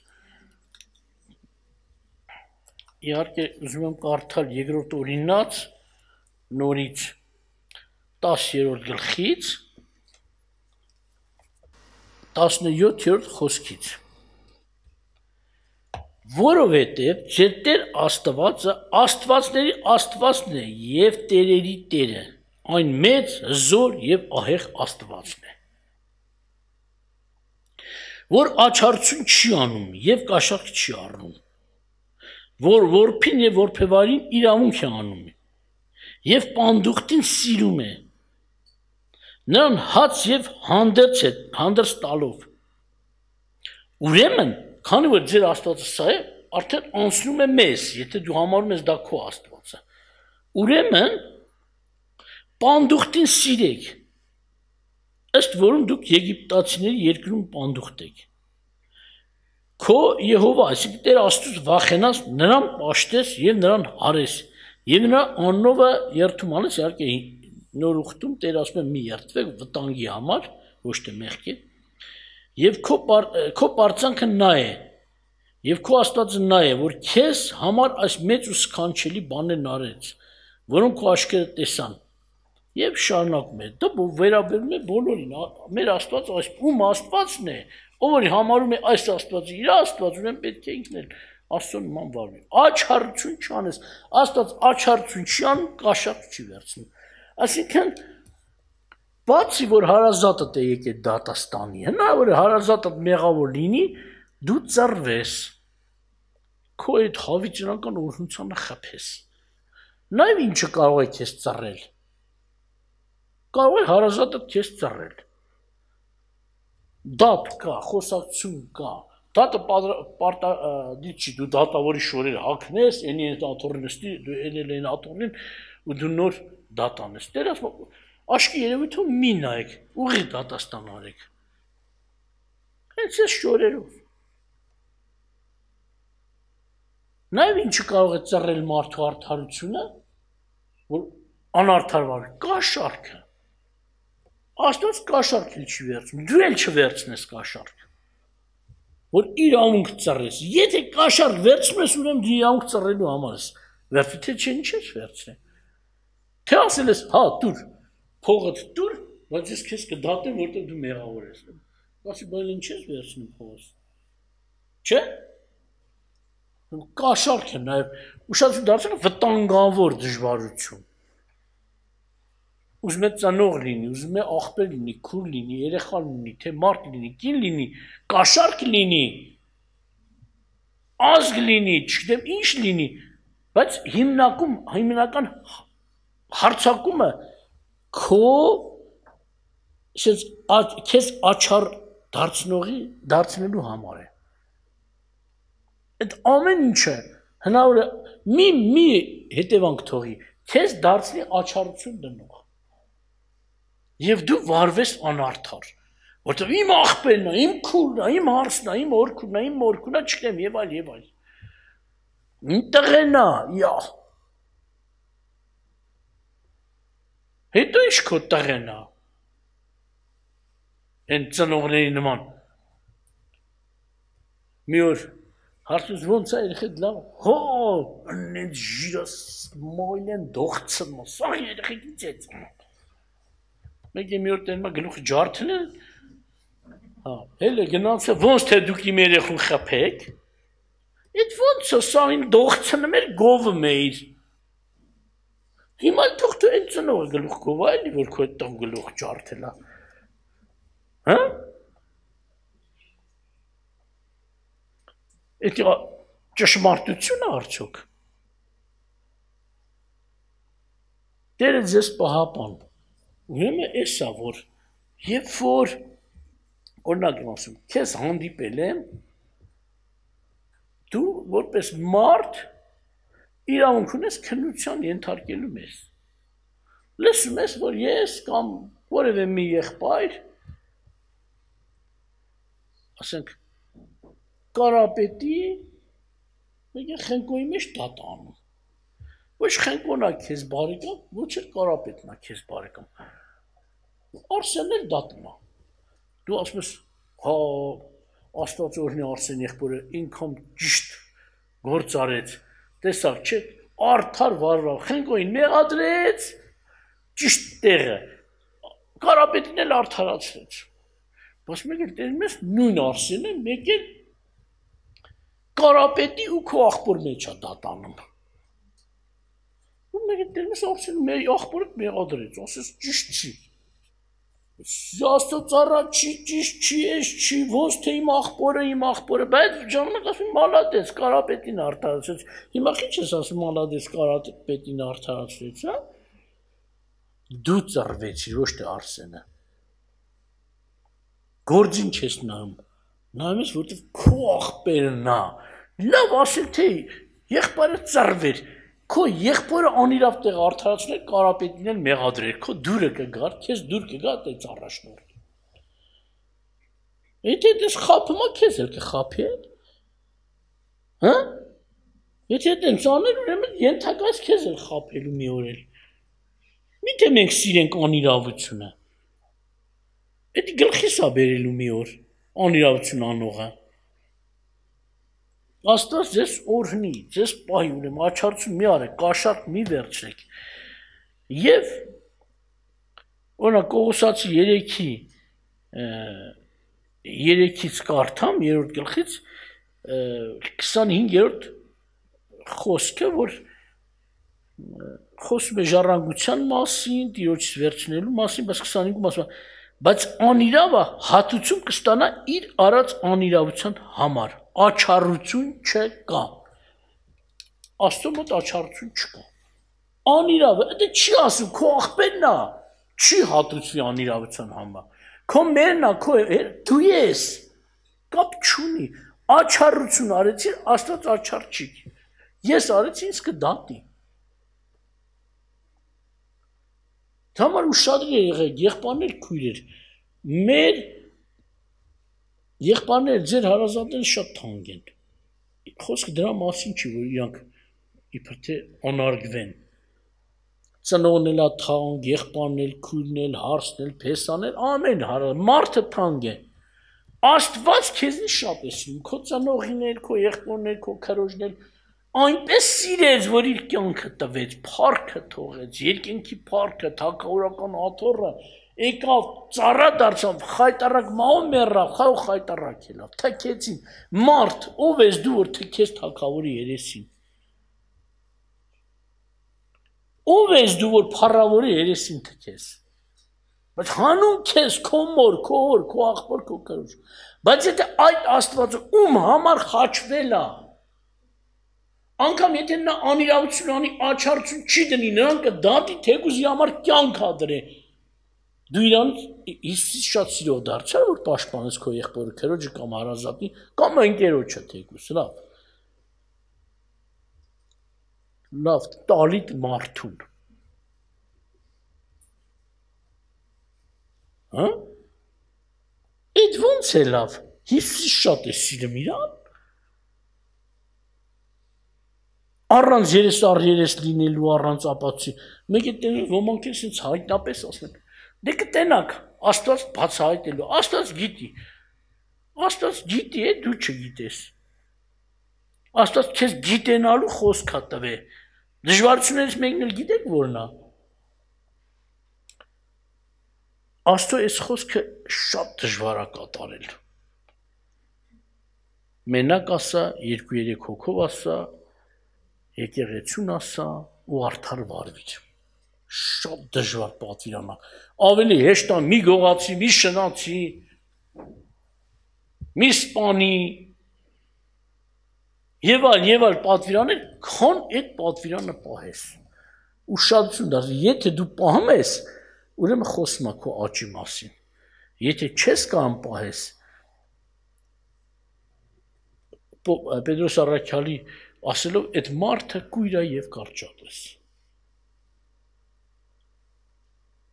իհարկե ուզում եմ կարդալ երկրորդ օրինաց նորից 10-րդ գլխից 17-րդ խոսքից որովհետև ձեր Տեր Աստվածը Աստվածների Աստվածն է եւ տերերի Տերը այն մեծ զոր եւ ահեղ Աստվածն է որ աչարություն չի անում եւ կաշառք չի առնում որ որփին եւ որփեվարին իրավունք է անում եւ պանդուխտին սիրում է նրան հաց եւ հանդերձ տալով ուրեմն քանի որ ձեր Աստվածը սա է արդեն անցնում է մեզ եթե դու համարում ես դա քո Աստվածը ուրեմն պանդուխտին սիրեք ըստ որում դուք եգիպտացիների երկրում պանդուխտ եք քո Եհովա այսինքն Տեր Աստծուց վախենաս նրան պաշտես եւ նրան հարես եւ նրա աննովը երթում անես իհարկե նոր ուխտում Տեր ասում է մի երթվեք վտանգի համար ոչ թե մեղքի եւ քո պարծանքը նա է եւ քո Աստվածը նա է որ քեզ համար այս մեծ ու սքանչելի բաներն արեց որոնք քո աչքերը տեսան եւ շարունակում է դա վերաբերում է բոլորին մեր Աստվածը այս ում Աստվածն է ով որ համարում է այս Աստվածը իր Աստված ուրեմն պետք է ինքն էլ Աստծո նման վարվի աչարություն չանես Աստված աչարություն չի անում կաշառք չի վերցնում այսինքն բացի որ հարազատդ է եկել դատաստանի հնարավոր է հարազատդ մեղավոր լինի դու ծռվես քո այդ հավիճնական օրհնությանը խփես նայ ինչը կարող է քեզ ծռել կարող է հարազատը քեզ ծռել դատ կա խոսակցություն կա դատը դիչի դու դատավորի շորերը հագնես ենի այդ աթոռին նստի դու ելել աթոռին ու դու նոր դատ անես դեր ասում աշկի երևույթում մի նայեք ուղի դատաստան արեք հենց այս շորերով նայ ինչը կարող է ծռել մարդու արդարությունը որ անարդար կաշառքը Աստված կաշառք էլ չի վերցնում, դու էլ չվերցնես կաշառք, որ իրավունք ծռես, եթե կաշառք վերցնում ես, ուրեմն դու իրավունք ծռելու համար ես, վերցու, թե չէ ինչ ես վերցնի, թե ասել ես, հա, դուր, փողդ դուր, բայց ես քեզ կդատեմ, որտեղ դու մեղավոր ես, ասի, բայց ինչ ես վերցնում փողս, չէ, կաշառք է նաև, ուշադրություն դարձել վտանգավոր դժվարություն, ուզում է ծնող լինի, ուզում է աղբեր լինի, քուր լինի, երեխա լինի, թե մարդ լինի, կին լինի, կաշառք լինի, ազգ լինի, չգիտեմ ինչ լինի, բայց հիմնական հարցակումը քո քեզ աչառ դարձնելու համար է։ Այդ ամեն ինչը հնարավոր է մի հետևանք թողի, քեզ դարձնի աչառություն դնող Եվ դու վարվես անարդար, որտեղ իմ աղբերն է, իմ քուրն է, իմ հարսն է, իմ օրքուրն է, իմ մորքուրն է, չգիտեմ եւ այլ եւ այլ։ Իմ տղեն է, յա։ Հետո ինչ քո տղեն է։ Են ծնողների նման։ Մի օր հարցուց ոնց է երեխեք լավ։ Հո, անենց ջիրս մոյլեն դողցն, սա երեխեք իծեց։ Մեկ մի օր տենմա գլուխ ջարդն է, հել է գնանց է, ոնց թե դուք իմ երեխուն խպեք, իտ ոնց է սա իմ դողցնը մեր գովը մեր, հիմա թող դու են ծնողը գլուխ գովա էլի, որ քո այդ տղ գլուխ ջարդել է, հա? Էդ ճշմարտություն է արդյոք, դերը ձեզ պահապան, Ուրեմն էսա որ երբ որ օրինակ եմ ասում քեզ հանդիպել եմ դու որպես մարդ իրավունք ունես քննության ենթարկելու մեզ լսում ես որ ես կամ որևէ մի եղբայր ասենք կարապետի մեկ խնկոյի մեջ դատ անում Ոչ խենկոնա քեզ բարեկամ, ոչ էլ կարապետնա քեզ բարեկամ։ Արսենն էլ դատում է։ Դու ասում ես, հա, Աստված օրհնի Արսեն եղբորը ինքան ճիշտ գործ արեց։ տեսակ չէ, արդար վարվավ, Խենգոյին մեղադրեց, ճիշտ տեղը, Կարապետին էլ արդարացրեց, բայց մեկ էլ տերում ես նույն Արսենը, մեկ էլ Կարապետի ու քո աղբոր մեջ է դատանում, ու մեկ էլ տերում ես Արսենը աղբորը մեղադրեց, ասես ճիշտ չի, Աստծո ծառա չի, ճիշտ չի, ես չի, ոնց թե իմ աղբորը, բայց ժամանակ ասում մալադես, Կարապետին արդարացրեց, հիմա քիչ ես ասում մալադես, Կարապետին արդարացրեց, հա? Դու ծռվեցիր, ոչ թե Արսենը, գործին չես նայում ես, որտև քո աղբերն է, լավ ասել թե եղբայրը ծռվեր, քո եղբորը անիրավ տեղ արդարացնել Կարապետին էլ մեղադրեր, քո դուրը կգար, քեզ դուր կգա տենց առաջնորդ։ Եթե դες խափում է, քեզ էլ կխափի էլ։ Հա? Եթե տենց աներ, ուրեմն ենթակայից քեզ էլ խափելու մի օր էլ։ Միթե մենք սիրենք անիրավությունը։ Էդի գլխիս է բերելու մի օր անիրավություն անողը։ Աստված ձեզ օրհնի, ձեզ պահի, ուրեմն աչարություն մի արեք, կաշառք մի վերցրեք։ Եվ օրինակ Կողոսացի 3-ից կարդամ, 3-րդ գլխից 25-րդ խոսքը, որ խոսում է ժառանգության մասին, Տիրոջից վերցնելու մասին, բայց 25-ում ասում է, բայց անիրավը հատուցում կստանա իր արած անիրավության համար, աչառություն չկա։ Աստծո մոտ աչառություն չկա։ Անիրավը, դա չի ասում, քո աղբերն է, չի հատուցվի անիրավության համար։ Քո մերն է, քո դու ես, կապ չունի, աչառություն արեցի, Աստված աչառ չի։ Ես արեցի, ինձ կդատի։ Համար ուշադրի եղեք, եղբայրներ քույրեր, մեր եղբայրները ձեր հարազատները շատ թանկ են, խոսքը դրա մասին չի, որ իրանք իբր թե անարգվեն, ծնողն էլ թանկ, եղբայրն էլ, քույրն էլ, հարսն էլ, փեսան էլ, ամեն մարդը թանկ է, Աստված քեզնի շատ է սիրում, քո ծնողին էլ, քո եղբորն էլ, քո քրոջն էլ, այնպես սիրեց, որ իր կյանքը տվեց, փառքը թողեց, երկինքի փառքը, թագավորական աթոռը, եկավ, ծառա դարձավ, խայտարակ մահու մեռավ, խայ խայտարակ ելավ, թքեցին, մարդ, ով ես դու, որ թքես թագավորի երեսին, ով ես դու, որ փառավորի երեսին թքես, բայց հանուն քեզ, քո մոր, քո հոր, քո աղբոր, քո քրոջ, բայց եթե այդ Աստվածը ում համար խաչվել է, անգամ եթե նա անիրավություն անի, աչառություն չի դնի, նրան կդատի, թեկուզ իր համար կյանք դրե, դու իրան Հիսուսից շատ սիրով դարձար, որ պաշտպանես քո եղբորը, քրոջը կամ հարազատի, կամ ընկերոջը թեկուզ, լավ, տալիտ մարդուն, հա, այդ ոնց է լավ, Հիսուսից շատ է սիրում իրան, առանց երես առ երես լինելու, առանց ապացույցի, մեկ է տենում ոմանք են սենց հայտնապես ասեն, դե կտենակ, Աստված բացահայտելու, Աստված գիտի է, դու չգիտես, Աստված քեզ գիտենալու խոսք է տվե, դժվարություններից մեկն էլ գիտեք որն է, Աստծո այս խոսքը շատ դժվար է կատարել, մենակ ասա, 2-3 հոգով ասա, եկեղեցուն ասա ու արդար վարվիր, շատ դժվար պատվիրանա, ավելի հեշտ է մի գողացի, մի շնացի, մի սպանի, եւ այլ պատվիրաններ, քան այդ պատվիրանը պահես, ուշադրություն դարձի, եթե դու պահում ես, ուրեմն խոսում է քո աճի մասին, եթե չես կարող պահես, Պետրոս Առաքյալի ասելով այդ մարդը կույր է եւ կարճատես։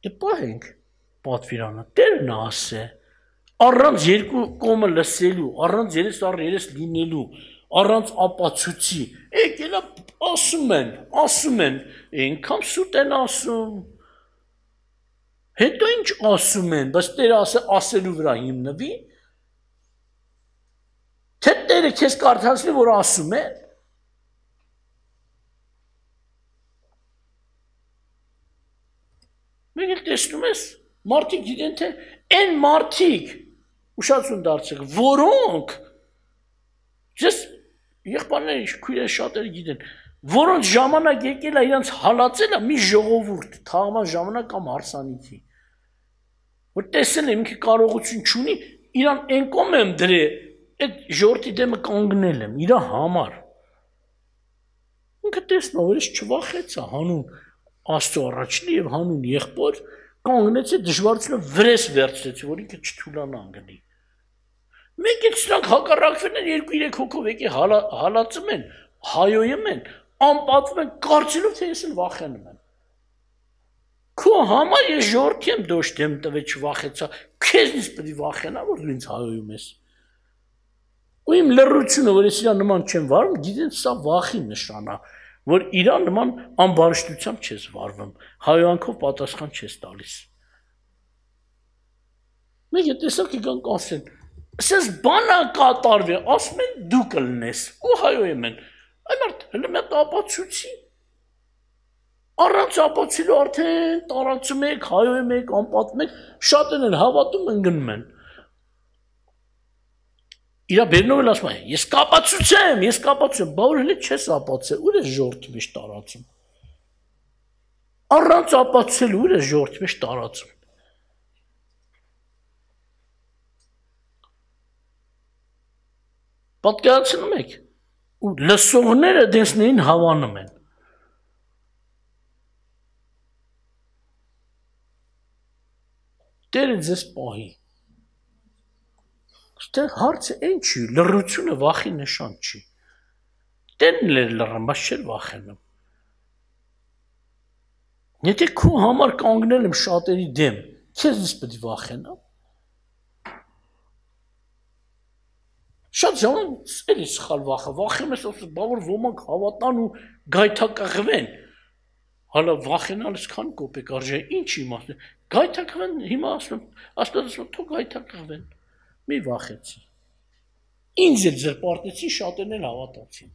Դե պահենք պատվիրանը, Տերն ասե, առանց երկու կողմը լսելու, առանց երես առ երես լինելու, առանց ապացույցի, եկել ասում են, այնքան սուտ են ասում, հետո ինչ ասում են, բայց Տերը ասելու վրա հիմնվի, թե Տերը քեզ կարդացնի, որ ասում են, Մենք էլ տեսնում ես, մարդիկ գիտեն թե այն մարդիկ ուշադրություն դարձեք, որոնք ես եղբայրները քույրերը շատերը գիտեն, որոնց ժամանակ եկել է իրանց հալածելը մի ժողովուրդ, թաղման ժամանակ կամ հարսանիքի, որ տեսել եմ ինքը կարողություն չունի, իրան այն կողմ եմ դրել, այդ ժողովրդի դեմը կանգնել եմ, իրա համար։ Ինքը տեսնա, որ ես չվախեցա հանուն Աստծո առաջնի եւ հանուն եղբոր կանգնեցի դժվարությունը վրես վերցրեցի, որ ինքը չթուլանա անգնի։ Մենք էլ սրանք հակառակվել են 2-3 հոգով եկի հալածում են, հայոյում են, անպատվում են, կարծելով թե ես էլ վախենում եմ։ Քո համար ես ժողովրդի եմ դոշ դեմ տվել չվախեցա, քեզնից պետք է վախենա, որ դու ինձ հայոյում ես։ Ու իմ լռությունը, որ ես իրա նման չեմ վարվում, գիտեն սա վախի նշան է, որ իրա նման ամբարշտությամբ չես վարվում, հայոյանքով պատասխան չես տալիս։ Մենք է տեսակ եկանք ասեն, ասես բանա կատարվի, ասում են դու կլնես, ու հայոյում են, այն արդ հլը մետ ապացուցի, առանց ապացիլու արդեն տարածում եք, հայոյում եք, անպատում եք, շատն են հավատում ընգնում են։ Իրա բերնով էլ ասում է, ես կապացուցեմ, բա որ հլի չես ապացել, ուր ես ժողովրդի մեջ տարածում։ Առանց ապացուցելու ուր ես ժողովրդի մեջ տարածում։ Պատկերացնում եք, ու լսողները դեսներին հավանում են։ Տերը ձեզ պահի։ Ստեղ հարցը այն չի, լռությունը վախի նշան չի։ Տերն էլ լռում, բայց չէր վախենում։ Եթե քո համար կանգնել եմ շատերի դեմ, քեզնից պետք է վախենամ։ Շատ ժամանակ էլի սխալ վախեմ ես ասում, բա որ ոմանք հավատան ու գայթակղվեն։ Հալա վախենալս քան կոպեկ արժե, ինչ իմաստ։ Գայթակղվեն, հիմա ասում, թող գայթակղվեն։ Մի վախեցի։ Ինձ էլ ձեր պարտեցին, շատերն էլ հավատացին։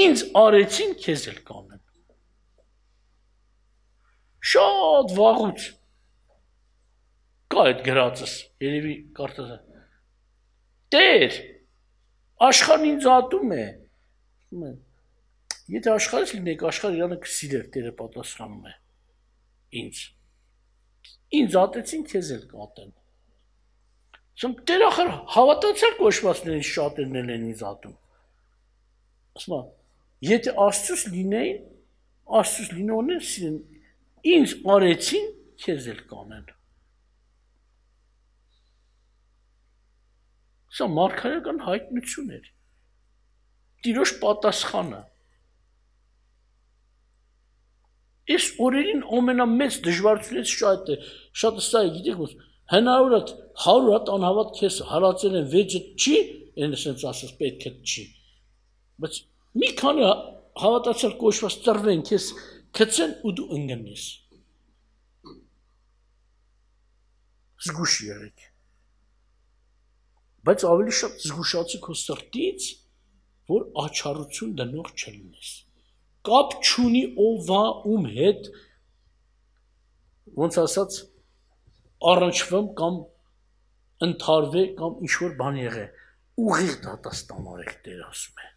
Ինձ արեցին, քեզ էլ կանեն։ Շատ վաղուց կա այդ գրածս, երևի կարծես։ Տեր, աշխարհն ինձ ատում է։ Եթե աշխարհից լինեք, աշխարհը իրանը կսիրեր, Տերը պատասխանում է։ Ինձ ատեցին, քեզ էլ կատեն։ Ասում Տեր ախր հավատացյալ կոչվածներին շատերն են ինձ ատում։ Ասում եթե Աստծուց լինեին, Աստծուց լինողներ սիրեն, ինձ արեցին, քեզ էլ կանեն։ Սա մարգարեական հայտնություն էր։ Տիրոջ պատասխանը։ Այս օրերին ամենամեծ դժվարությունից շատը սա է, գիտեք ոնց, հնարավոր է 100 հատ անհավատ քեզ հալածել են վեճը չի, այն ասենց ասած պետք է չի։ Բայց մի քանի հավատացյալ կոչված ծրվեն քեզ գցեն ու դու ընկնես։ Զգուշ եղեք։ Բայց ավելի շատ զգուշացի քո սրտից, որ աչառություն դնող չլինես։ Կապ չունի ովա ում հետ ոնց ասած առնչվեմ կամ ընթարվե կամ ինչ-որ բան եղե, ուղիղ դատաստան արեք, Տեր ասում է։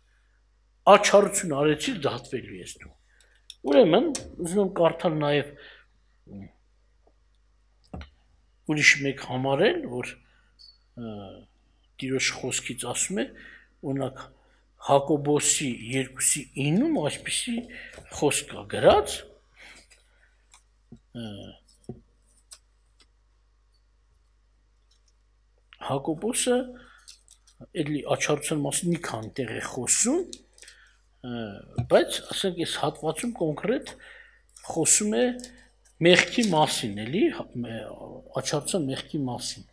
Աչառություն արեցիր, դատվելու ես դու։ Ուրեմն, ուզում եմ կարդալ նաև ուրիշ մեկ համարել, որ Տիրոջ խոսքից ասում է, օրինակ Հակոբոսի 2:9-ում այսպիսի խոսք կա գրած, Հակոբոսը էլի աչառության մասին մի քանի տեղ է խոսում, բայց ասենք այս հատվածում կոնկրետ խոսում է մեղքի մասին, էլի աչառության մեղքի մասին։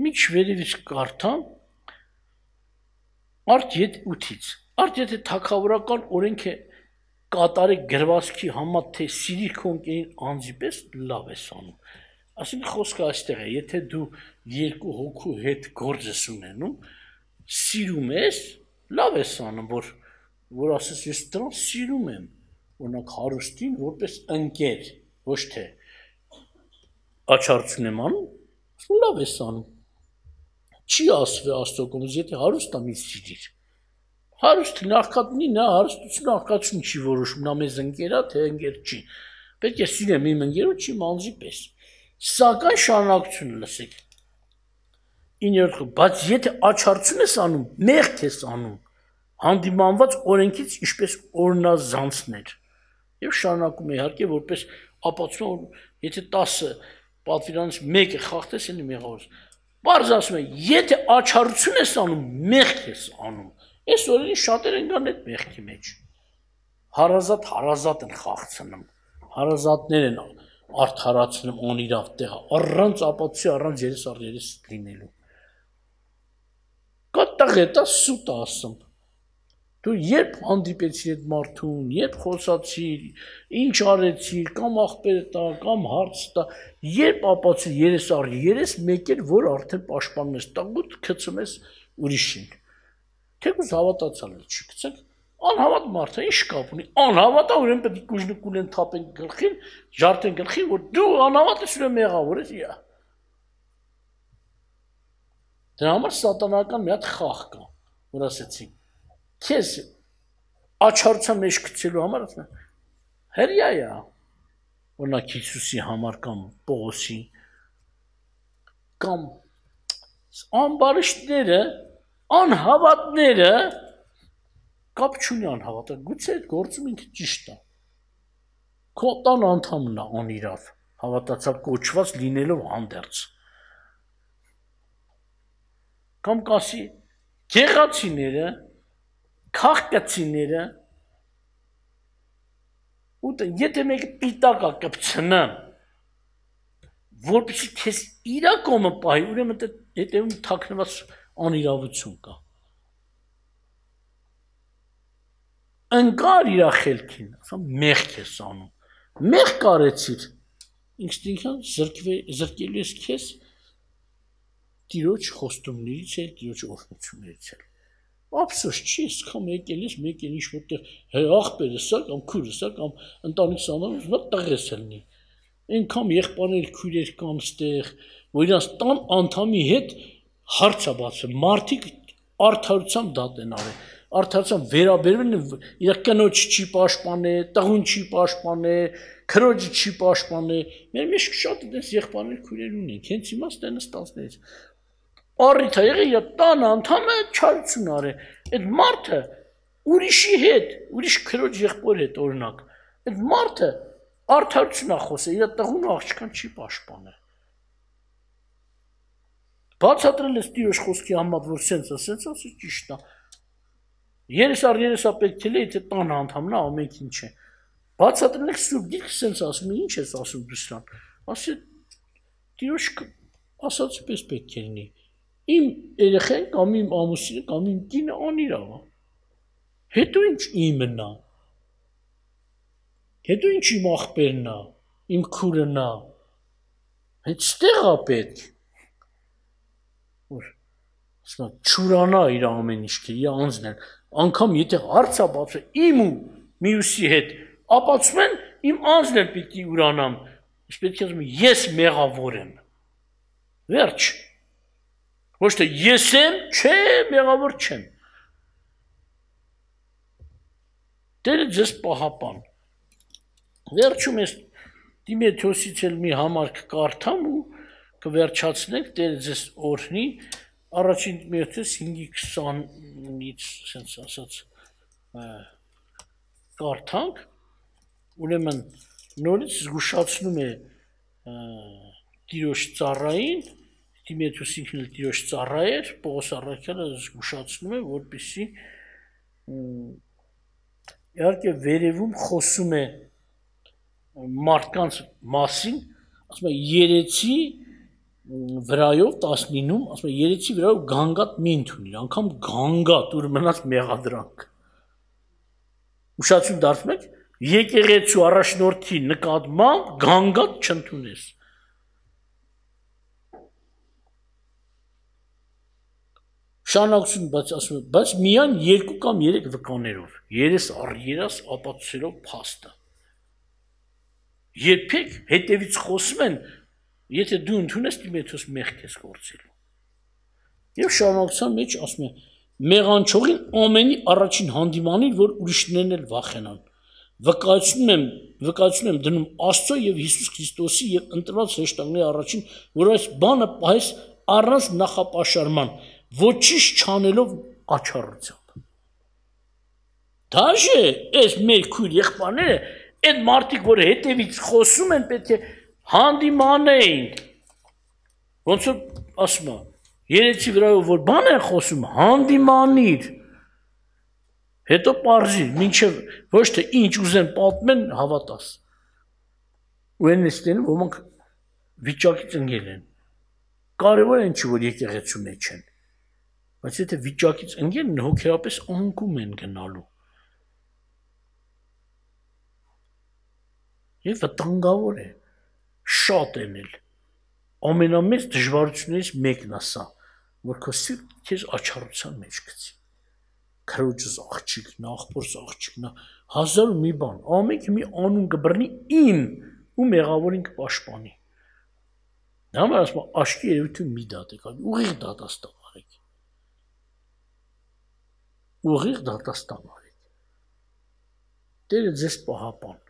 Միջ վերևից կարդամ Արդ 8-ից։ Արդ եթե թագավորական օրենք է կատարեք գրվածքի համա թե սիրիր քո ընկերին անձի պես լավ ես անում։ Այսինքն խոսքը այստեղ է, եթե դու երկու հոգու հետ գործ ես ունենում, սիրում ես, լավ ես անում, որ որ ասես ես դրան սիրում եմ, օրինակ հարուստին որպես ընկեր, ոչ թե աչարություն եմ անում, լավ ես անում։ Չի ասվի Աստծո կողմից, եթե հարուստ է մի սիրիր։ Հարուստը նախքատնի նա հարստությունը արկածություն չի որոշում, նա մեզ ընկեր է, թե ընկեր չի։ Պետք է սիրեմ իմ ընկերոջ իմ անձի պես։ Սակայն շարունակությունը լսեք։ 9-րդ, բայց եթե աչարություն ես անում, մեղք ես անում, հանդիմանված օրենքից ինչպես օրնազանցներ։ Եվ շարունակում է իհարկե որպես ապացույց, եթե 10 պատվիրանից մեկը խախտես, ելի մեղավոր։ Պարզ ասում է, եթե աչարություն ես անում, մեղք ես անում։ Այս օրերին շատեր են գան այդ մեղքի մեջ։ Հարազատ են խաղցնում։ Հարազատներ են արդարացնում անիրավ տեղը, առանց ապացույցի, առանց երես առ երես լինելու։ Կատաղ հետա սուտ ասում։ Դու երբ հանդիպեցիր այդ մարդուն, երբ խոսացիր, ինչ արեցիր, կամ աղբերը տա, կամ հարց տա, երբ ապացույց երես առ երես մեկ էր, որ արդեն պաշտպանում ես, տաղուտ գցում ես ուրիշին։ Թեկուզ հավատացալ է չի գցենք, անհավատ մարդը ինչ կապ ունի, անհավատ է, ուրեմն պետք է կուժնկուլեն թափեն գլխին, ջարդեն գլխին, որ դու անհավատ ես ուրեմն մեղավոր ես, իա։ Դրա համար սատանական մի հատ խաղ կա, որ ասեցին, քեզ աչարության մեջ գցելու համար ասում են, հրյա է, օրինակ Հիսուսի համար կամ Պողոսի, կամ անբարիշտները, անհավատները կապ չունի անհավատը, գուցե այդ գործում ինքը ճիշտ է։ Քո տան անդամն է անիրավ, հավատացյալ կոչված լինելով հանդերձ։ Կամ կասի գեղացիները, քաղկացիները, եթե մեկը պիտակ է կպցնան, որպեսզի քեզ իրա կողմը պահի, ուրեմն հետևում թաքնված անիրավություն կա։ Ընկար իրա խելքին, ասում մեղք ես անում, մեղք կարեցիր, ինքնին զրկելու ես քեզ Տիրոջ խոստումներից էլ, Տիրոջ օրհնություններից էլ։ Ափսոս չի, սկամ եկել ես, մեկ էլ ինչ-որտեղ աղբերս է, կամ քուրս է, կամ ընտանիքս անանուց, նա տղես ելնի։ Այնքան եղբայրներ, քույրեր կան ստեղ, որ իրանց տան անդամի հետ հարց է բացվում, մարդիկ արդարությամբ դատ են արել, արդարությամբ վերաբերվել են, իր կնոջ չի պաշտպանել, տղուն չի պաշտպանել, քրոջը չի պաշտպանել։ Մեր մեջ շատ այդպես եղբայրներ, քույրեր ունենք, հենց իմաստ են ստացներից։ Առիթ է եղել իր տան անդամը չարություն արել։ Այդ մարդը ուրիշի հետ, ուրիշ քրոջ եղբոր հետ օրինակ, այդ մարդը արդարություն է խոսել, իր տղուն աղջկան չի պաշտպանել։ Բացատրել ես Տիրոջ խոսքի համաձ, որ սենց ասի ճիշտ է։ Երես առ երես է պետք է եթե տան անդամն է ամենքին չէ։ Բացատրել եք Սուրբ Գիրքը սենց ասում, ինչ ես ասում դու սրան։ Ասի Տիրոջ ասածը պես պետք է լինի։ Իմ երեխեն կամ իմ ամուսինը կամ իմ կինը անիրավ է։ Հետո ինչ իմն է։ Հետո ինչ իմ աղբերն է, իմ քուրն է։ Հետ ստեղ է պետք։ Որ ասում եմ չուրանա իր ամեն ինչքը, իր անձն է։ Անկամ եթե հարց է բացել իմ ու մյուսի հետ, ապացում են իմ անձն էլ պիտի ուրանամ։ Իսկ պետք է ասում ես մեղավոր եմ։ Վերջ։ Ոչ թե ես եմ, չէ, մեղավոր չեմ։ Տերը ձեզ պահապան։ Վերջում ես Տիմոթեոսից էլ մի համար կկարդամ ու կվերջացնենք, Տերը ձեզ օրհնի, առաջին Տիմոթեոս 5:20-ից ասենց ասած կարդանք, ուրեմն նորից զգուշացնում է Տիրոջ ծառային, Տիմոթեոս ինքն էլ Տիրոջ ծառա էր, Պողոս առաքյալը զգուշացնում է, որպեսզի իհարկե վերևում խոսում է մարդկանց մասին, ասում է երեցի վրայով 19-ում, ասում է երեցի վրայով գանգատ մի ընդունիր, անգամ գանգատ, ուր մնաց մեղադրանք։ Ուշացում դարձնում եք, եկեղեցու առաջնորդի նկատմամբ գանգատ չընդունես։ Շարունակություն, բայց ասում եմ, բայց միայն 2 կամ 3 վկաներով, երես առ երաս ապացուցելով փաստը։ Երբեք հետևից խոսում են, եթե դու ընդունես Տիմոթեոս մեղք ես գործելու։ Եվ շարունակության մեջ ասում է, մեղանչողին ամենի առաջին հանդիմանին, որ ուրիշներն էլ վախենան։ Վկայություն եմ դնում Աստծո եւ Հիսուս Քրիստոսի եւ ընտրված հրեշտակների առաջին, որ այս բանը պահես առանց նախապաշարման, ոչինչ չանելով աչառությամբ։ Դաժե այս մեր քույր եղբայրները, այդ մարդիկ, որ հետևից խոսում են, պետք է հանդիմանեին։ Ոնց որ ասում եմ, երեցի վրայով որ բան են խոսում, հանդիմանիր։ Հետո պարզիր, մինչև ոչ թե ինչ ուզեն պատմեն, հավատաս։ Ու են նստեն, ոմանք վիճակից ընկել են։ Կարևոր են չի, որ եկեղեցու մեջ են։ Բայց եթե վիճակից ընկեն, հոգեապես անկում են գնալու։ Եվ վտանգավոր է, շատ են էլ։ Ամենամեծ դժվարություններից մեկն է սա, որ քո սիրտը քեզ աչառության մեջ գցի։ Քրոջս աղջիկն, աղբորս աղջիկն, հազար ու մի բան, ամենքը մի անուն կբռնի ին ու մեղավորին կպաշտպանի։ Դա համար ասում եմ, աշկի երևույթում մի դատեք, ուղիղ դատաստան արեք։ Ուղիղ դատաստան արեք։ Տերը ձեզ պահապան։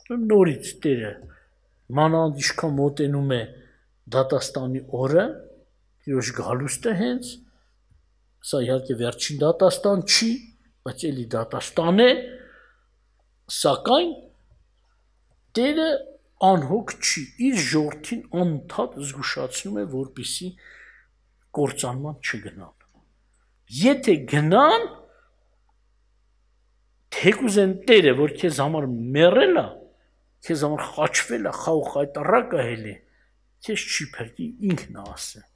Նորից Տերը մանավանդ ինչքան մոտենում է դատաստանի օրը, Տիրոջ գալուստը հենց, սա իհարկե վերջին դատաստան չի, բայց էլի դատաստան է, սակայն Տերը անհոգ չի, իր ժողովրդին անընդհատ զգուշացնում է, որպեսզի կործանման չգնան։ Եթե գնան, թեկուզ են Տերը, որ քեզ համար մեռել է, քեզ համար խաչվել է, խաղ խայտարակ է հելի, քեզ չի փրկի ինքն է ասել։